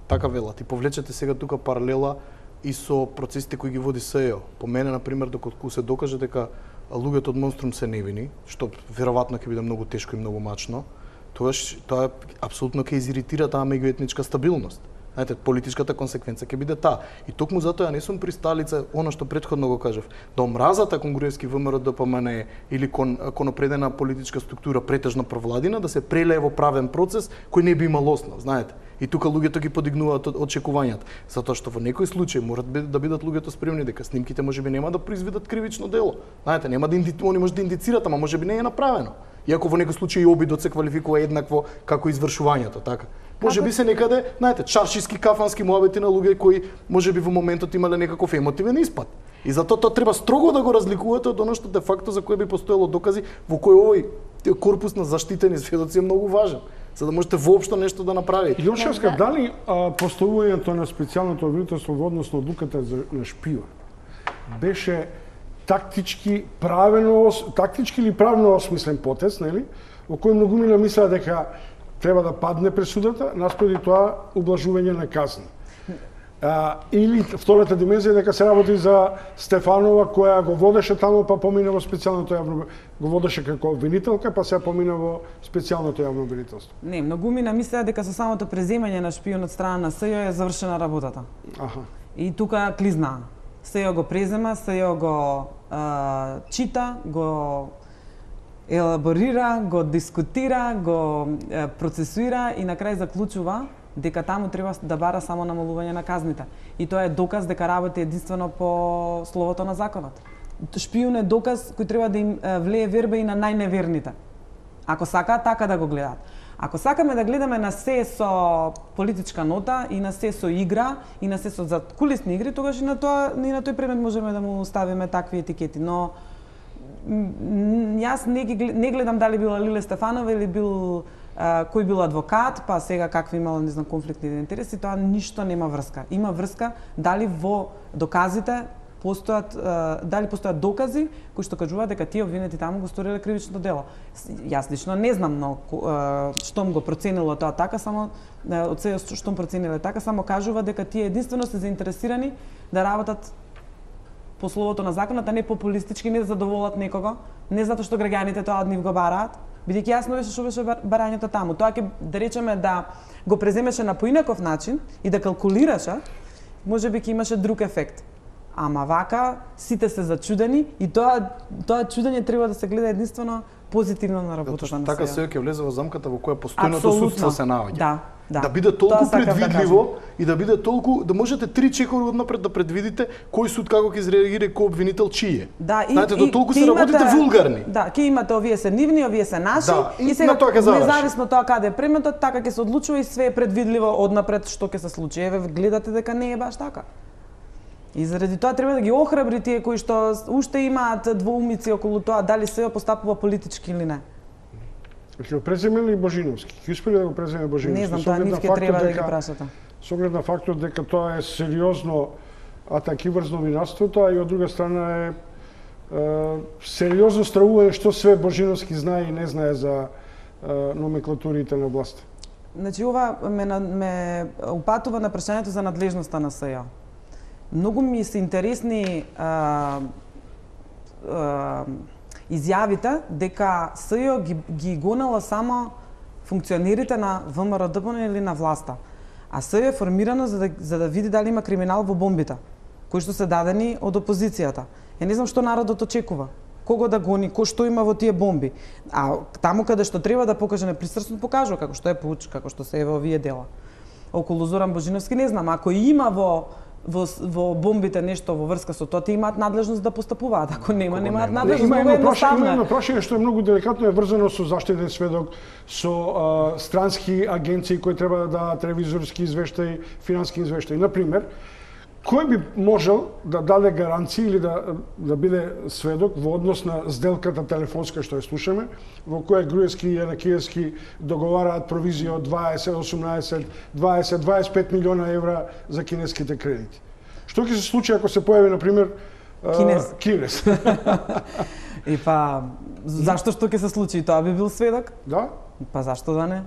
Така велат. И повлечете сега тука паралела и со процесите кои ги води СЈО. По мене, например, доколку се докаже дека луѓето од Монструм се невини, што веројатно ќе биде многу тешко и многу мачно, тогаш тоа апсолутно ќе изиритира таа меѓуетничка стабилност. Знаете, политичката консеквенца ќе биде таа. И токму затоа не сум присталица, она што претходно го кажав, да омразата кон Груевски ВМРО Д П М Н или кон, кон опредена политичка структура претежно провладина, да се прелее во правен процес кој не би имал основ, знаете. И тука луѓето ги подигнуваат очекувањата, затоа што во некој случај морат да бидат луѓето спремни дека снимките можеби нема да произведат кривично дело. Знаете, нема да инди... они може да индицират, ама можеби не е направено. Иако во некој случај обидот се квалификува еднакво како извршувањето, така. Може би се некаде, знаете, чаршиски кафански муабети на луѓе кои можеби во моментот имале некаков емотивен испад. И затоа тоа треба строго да го разликувате од оно што де факто за кое би постоело докази, во кој овој корпус на заштитени сведоци е многу важен, за да можете воопшто нешто да направите. Јошевска, дали а, поставувањето на специјалното обвинителство во однос на одлуката за на Шпион беше тактички правено тактички или правно осмислен потез, нели? Во кој многумина мислеа дека треба да падне пресудата, наспроти тоа ублажување на казни. А, или втората димензија дека се работи за Стефанова која го водеше таму па помина во специјалното јавно го водеше како обвинителка па се помина во специјалното јавно обвинителство. Не, многумина мислеа дека со самото преземање на Шпион од страна на СЈО е завршена работата. Аха. И тука клизнаа. СЈО го презема, СЈО го а, чита, го елаборира, го дискутира, го е, процесуира и на крај заклучува дека таму треба да бара само намалување на казните. И тоа е доказ дека работи единствено по словото на законот. Шпион е доказ кој треба да им влее верба и на најневерните. Ако сакаат така да го гледаат. Ако сакаме да гледаме на се со политичка нота и на се со игра и на се со задкулисни игри, тогаш и на тоа и на тој предмет можеме да му ставиме такви етикети, но јас не ги не гледам дали била Лиле Стефанова или бил а, кој бил адвокат, па сега какви имала не знам конфликтни интереси, тоа ништо нема врска. Има врска дали во доказите постојат дали постојат докази кои што кажуваат дека тие обвинети таму го сториле кривичното дело. Јас лично не знам, но штом го проценило тоа така, само од се штом процениле така, само кажува дека тие единствено се заинтересирани да работат по словото на законот, а не популистички, не да задоволат некого, не затоа што граѓаните тоа од нив го бараат, бидејќи јасно беше што беше барањето таму. Тоа ќе да речеме да го преземеше на поинаков начин и да калкулираше, можеби ќе имаше друг ефект. Ама вака сите се зачудени и тоа тоа чудење треба да се гледа единствено позитивно на работата на така се ќе влезе во замката во која постојното судство се наоѓа. Да, да. Да биде толку предвидливо да и да биде толку да можете три чекори однапред да предвидите кој суд како ќе изреагира кој обвинител чие. Да, и, знаете, и, до толку се работите вулгарни. Да, ќе имате овие се нивни, овие се наши да, и, и сега независно тоа каде е предметот, така ќе се одлучува и све е предвидливо однапред што ќе се случи. Еве гледате дека не е баш така. И заради тоа треба да ги охрабри тие кои што уште имаат двоумици околу тоа дали се постапува политички или не. Ќе го преземе ли Божиновски? Ќе успели да го преземе Божиновски? Не знам, тоа нив ќе треба да ги прашате. Со оглед на фактот дека тоа е сериозно атаки врз новинарството, а и од друга страна е, е сериозно стравување што све Божиновски знае и не знае за е, номенклатурите на власт. Значи ова ме, ме упатува на прашањето за надлежноста на СЈО. Многу ми се интересни а, а, изјавите дека СЈО ги, ги гонела само функционерите на ВМРО-ДПМН или на власта. А СЈО е формирано за да, за да види дали има криминал во бомбите, кои што се дадени од опозицијата. Е, не знам што народот очекува. Кого да гони, кој што има во тие бомби. А таму каде што треба да покаже непристрасно, покажува како што е Пуч, како што се е во овие дела. Околу Зоран Божиновски не знам, ако има во Во, во бомбите нешто во врска со тоа, тие имаат надлежност да постапуваат. Ако нема, немаат надлежност, има многу едноставно. Има едно прашање што е многу деликатно, е врзано со заштитен сведок, со а, странски агенции кои треба да дадат ревизорски извештаи, финански извештаи. Например, кој би можел да даде гаранции или да, да биде сведок во однос на сделката телефонска што ја слушаме, во која Груевски и Јанакиевски договараат провизија од дваесет, осумнаесет, дваесет, дваесет и пет милиона евра за кинеските кредити. Што ќе се случи ако се појави, например, Кинез? Кинез. И па, зашто што ќе се случи? Тоа би бил сведок? Да. Па зашто да не?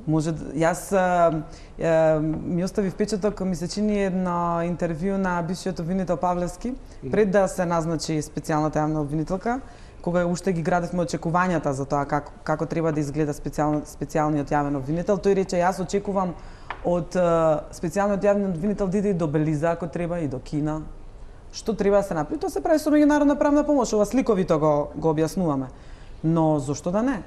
Може, јас а, а, ми остави впечаток, ми се чини едно интервју на бившиот обвинител Павлевски, пред да се назначи специјалната јавна обвинителка, кога уште ги градевме очекувањата за тоа како, како треба да изгледа специјал, специјалниот јавен обвинител. Тој рече, јас очекувам од а, специјалниот јавен обвинител да иде и до Белиза ако треба, и до Кина. Што треба да се направи? Тоа се прави со меѓународна правна помош, ова сликовито го, го објаснуваме. Но зошто да не?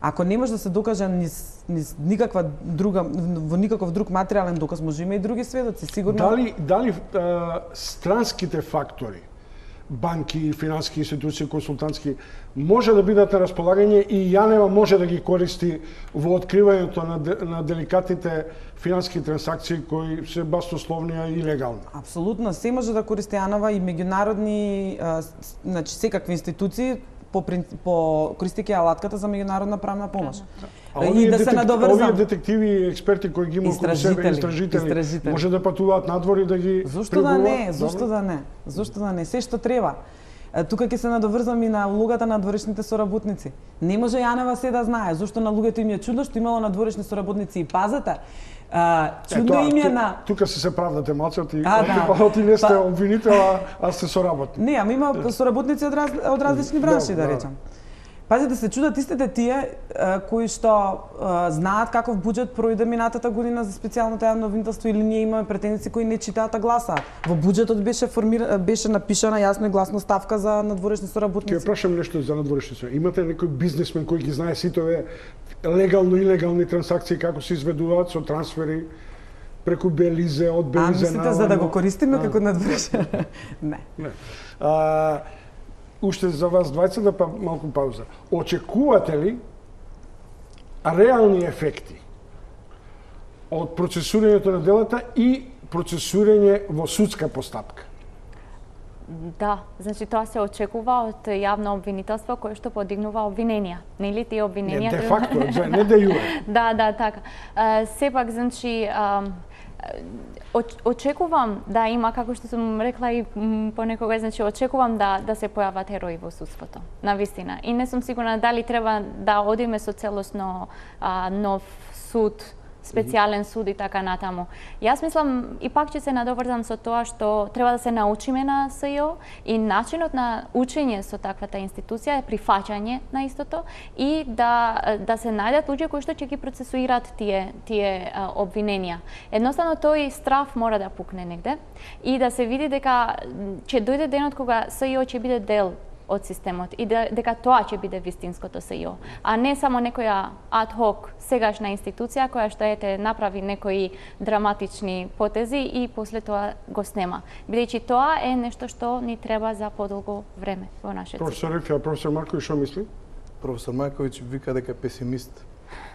Ако не може да се докаже низ, низ никаква друга, во никаков друг материјален доказ, може има и други сведоци, сигурно. Дали, дали а, странските фактори, банки, финански институции, консултантски, може да бидат на располагање и Јанева може да ги користи во откривањето на, на деликатните финански трансакции кои се баснословни и легални? Апсолутно, се може да користи Јанева и меѓународни, а, значи секакви институции, по, по користејќи алатката за меѓународна правна помош. А и да детек, се надоврзам. Овие детективи и експерти кои ги има околу себе, истражители, истражители, може да патуваат надвор и да ги Зошто да не? Зошто да не? Зошто да не? Се што треба. Тука ќе се надоврзам и на улогата на надворешните соработници. Не може Јанева се да знае, зошто на луѓето им е чудно што имало надворешни соработници и пазете. А, чудно им е на... Тука се се правдате малце, ти, да. ти не сте обвинител, а, а сте соработник. Не, ама има соработници од, раз, од различни бранши, да, да речам. Пазите, се чудат истите тие а, кои што а, знаат каков буџет пројде минатата година за специјалното јавно обвинителство или ние имаме претендици кои не читаат, а гласаат. Во буџетот беше формира, беше напишана јасно и гласно ставка за надворешни соработници. Ќе прашам нешто за надворешни соработници. Имате некој бизнисмен кој ги знае сите овие легално и илегални трансакции како се изведуваат со трансфери преку Белизе, од Белизе на... А мислите за да го користиме како надворешен? Не. Не. А, уште за вас двајца да па малку пауза. Очекувате ли реални ефекти од процесирањето на делата и процесирање во судска постапка. Да, значи тоа се очекува од јавно обвинителство кое што подигнува обвиненија. Нели тие обвиненија? Не, де факто, не де јуре. Да, да, така. Uh, сепак, значи, uh, очекувам да има, како што сум рекла и понекогаш, значи очекувам да да се појават херои во судството, на вистина. И не сум сигурна дали треба да одиме со целосно а, нов суд, специјален суд и така натаму. Јас мислам и пак ќе се надоврзам со тоа што треба да се научиме на СЈО и начинот на учење со таквата институција е прифаќање на истото и да да се најдат луѓе кои што ќе ги процесуираат тие тие а, обвиненија. Едноставно тој страв мора да пукне негде и да се види дека ќе дојде денот кога СЈО ќе биде дел од системот и дека тоа ќе биде вистинското СЈО, а не само некоја ад-хок сегашна институција која што ете направи некои драматични потези и после тоа го снема. Бидејќи тоа е нешто што ни треба за подолго време во нашиот систем. Професор Рифија, професор Марковиќ, што мисли? Професор Марковиќ вика дека е песимист.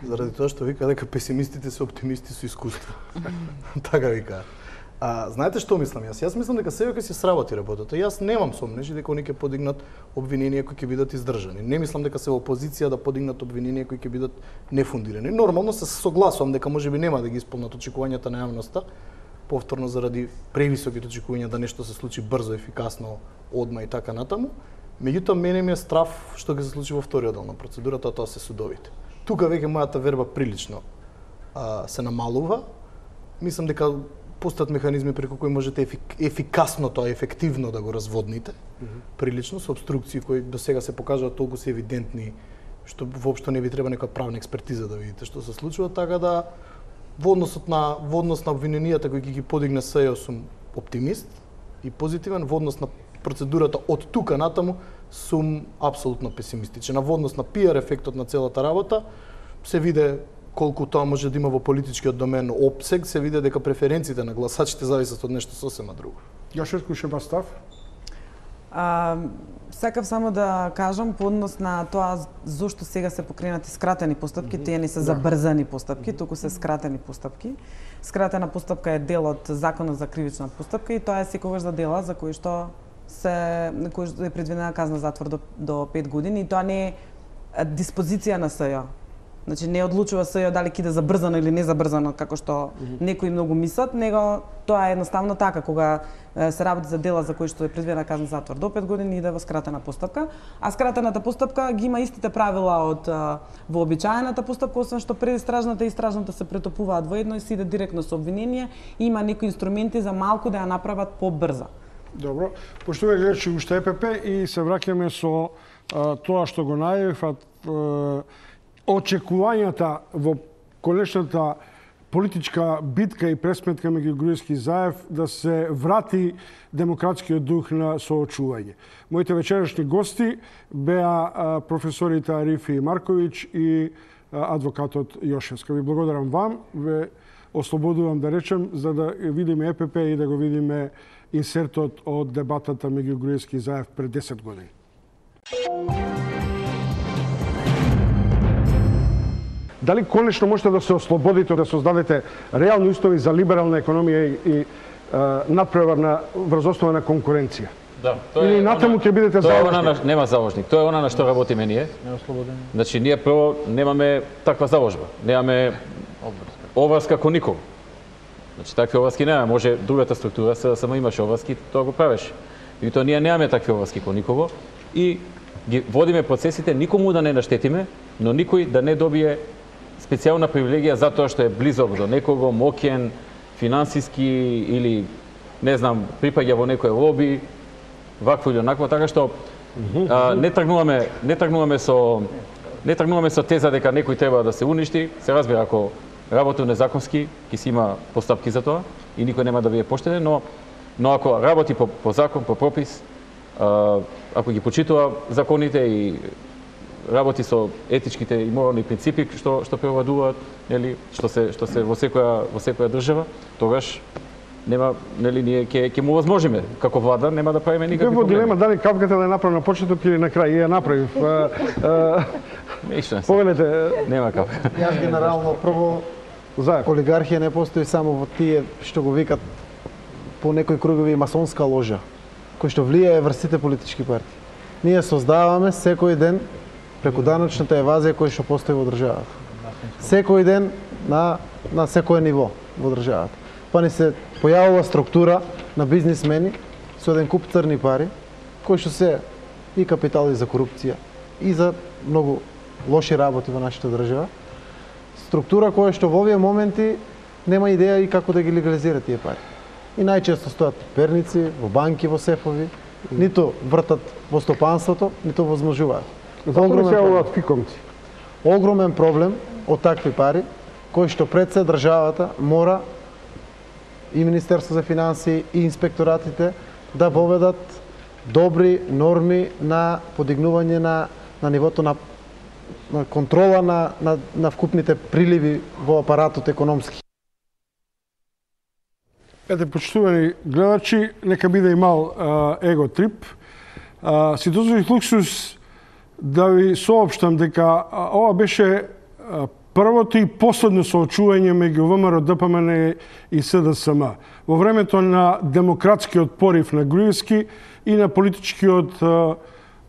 Заради тоа што вика дека песимистите се оптимисти со искуство. Така вика. А, знаете што мислам јас? Јас мислам дека СЈО ќе се сработи работата. Јас немам сомнеж дека они ќе подигнат обвиненија кои ќе бидат издржани. Не мислам дека се во позиција да подигнат обвиненија кои ќе бидат нефундирани. Нормално се согласувам дека можеби нема да ги исполнат очекувањата на јавноста, повторно заради превисоките очекувања да нешто се случи брзо, ефикасно, одма и така натаму. Меѓутоа мене ми е страв што ќе се случи во вториот дел на процедурата, тоа се судовите. Тука веќе мојата верба прилично а, се намалува. Мислам дека постојат механизми преку кои можете ефик, ефикасно тоа, ефективно да го разводните, mm -hmm. прилично, со обструкции кои до сега се покажуваат толку се евидентни, што воопшто не ви треба некоја правна експертиза да видите што се случува, така да во односот на во однос на обвиненијата кои ќе ги подигне СЈО сум оптимист и позитивен, во однос на процедурата од тука натаму сум апсолутно песимистичен. Во однос на пиар ефектот на целата работа се виде колку тоа може да има во политичкиот домен опсег, се види дека преференциите на гласачите зависат од нешто сосема друго. Јашетко Шебастав? А, сакав само да кажам по однос на тоа зошто сега се покренати скратени постапки, mm -hmm. тие не се забрзани постапки, mm -hmm. туку се скратени постапки. Скратена постапка е дел од Законот за кривична постапка и тоа е секогаш за дела за кои што се кои што е предвидена казна затвор до, до пет години и тоа не е диспозиција на СЈО. Значи не одлучува СЈО дали ќе иде забрзано или не забрзано како што mm -hmm. некои многу мислат, него тоа е едноставно така кога се работи за дела за кои што е предвидена казна затвор до пет години иде во скратена постапка, а скратената постапка ги има истите правила од вообичаената постапка, освен што предистражната и истражната се претопуваат во едно и се иде директно со обвинение и има некои инструменти за малку да ја направат побрза. Добро, пошто ве гледачи уште ЕПП и се враќаме со а, тоа што го најавив, очекувањата во конечната политичка битка и пресметка меѓу Груевски и Заев да се врати демократскиот дух на соочување. Моите вечерашни гости беа професорите Арифи и Марковиќ и адвокатот Јошевска. Ви благодарам вам, ве ослободувам да речем, за да видиме ЕПП и да го видиме инсертот од дебатата меѓу Груевски и Заев пред десет години. Дали конечно можете да се ослободите, да создадете реални устови за либерална економија и, и а, надпреварна врз основа на конкуренција? Да, тоа е. Или натаму ќе бидете заложник? Нема заложник. Тоа е она на што работиме ние. Нема слободен. Значи ние прво немаме таква заложба. Немаме обврска кон никого. Значи такви обврски немаме. Може другата структура се само имаше обврски, тоа го правеше. И тоа ние немаме такви обврски кон никого и ги водиме процесите никому да не наштетиме, но никој да не добие специјална привилегија затоа што е близок до некого, моќен, финансиски или не знам, припаѓа во некој лоби, вакво или онакво, така што а, не тргнуваме, не тргнуваме со не тргнуваме со теза дека некој треба да се уништи. Се разбира ако работи незаконски, ќе си има постапки за тоа и никој нема да биде поштеден, но но ако работи по, по закон, по пропис, а, ако ги почитува законите и работи со етичките и морални принципи што што превладуваат, нели, што се што се во секоја во секоја држава, тогаш нема, нели, ние ќе ќе му возможиме како влада, нема да правиме никакви проблеми. Во дилема дали капката да е направена на почеток или на крај, ја направив. Ништо не се. Повелете, Нема како. Јас генерално прво Заев. олигархија не постои само во тие што го викат по некои кругови масонска ложа, кој што влијае врз сите политички партии. Ние создаваме секој ден преку даночната евазија која што постои во државата. Секој ден на на секое ниво во државата. Па ни се појавува структура на бизнисмени со еден куп црни пари, кои што се и капитали за корупција, и за многу лоши работи во нашата држава. Структура која што во овие моменти нема идеја и како да ги легализира тие пари. И најчесто стојат перници, во банки, во сефови, ниту вртат во стопанството, ниту возможуваат. Зато не се јавуваат фикомци. Огромен проблем од такви пари, кои што пред се државата мора и Министерство за финансии и инспекторатите да воведат добри норми на подигнување на на нивото на на контрола на на на вкупните приливи во апаратот економски. Ете, почитувани гледачи, нека биде и мал а, его трип. А, си дозволих луксус да ви соопштам дека а, ова беше а, првото и последно соочување меѓу ВМРО, ДПМН и СДСМ во времето на демократскиот порив на Груевски и на политичкиот а,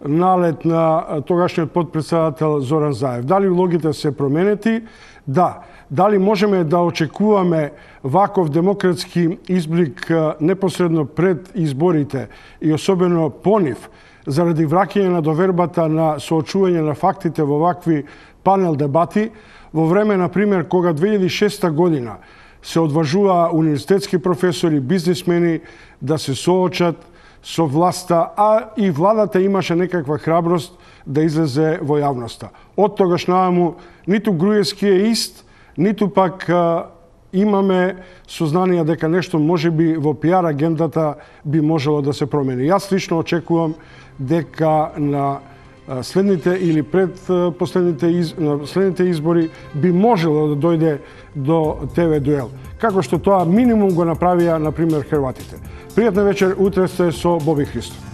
налет на тогашниот подпредседател Зоран Заев. Дали улогите се променети? Да. Дали можеме да очекуваме ваков демократски изблик непосредно пред изборите и особено по нив, заради враќање на довербата на соочување на фактите во вакви панел дебати, во време, например, кога две илјади и шеста година се одважува универзитетски професори, бизнисмени да се соочат со власта, а и владата имаше некаква храброст да излезе во јавноста. Од тогаш нааму ниту Груевски е ист, ниту пак а, имаме сознание дека нешто можеби во пиар агендата би можело да се промени. Јас лично очекувам дека на следните или пред последните из, на следните избори би можело да дојде до ТВ дуел. Како што тоа минимум го направија, например, хрватите. Пријатна вечер, утре сте со Боби Христов.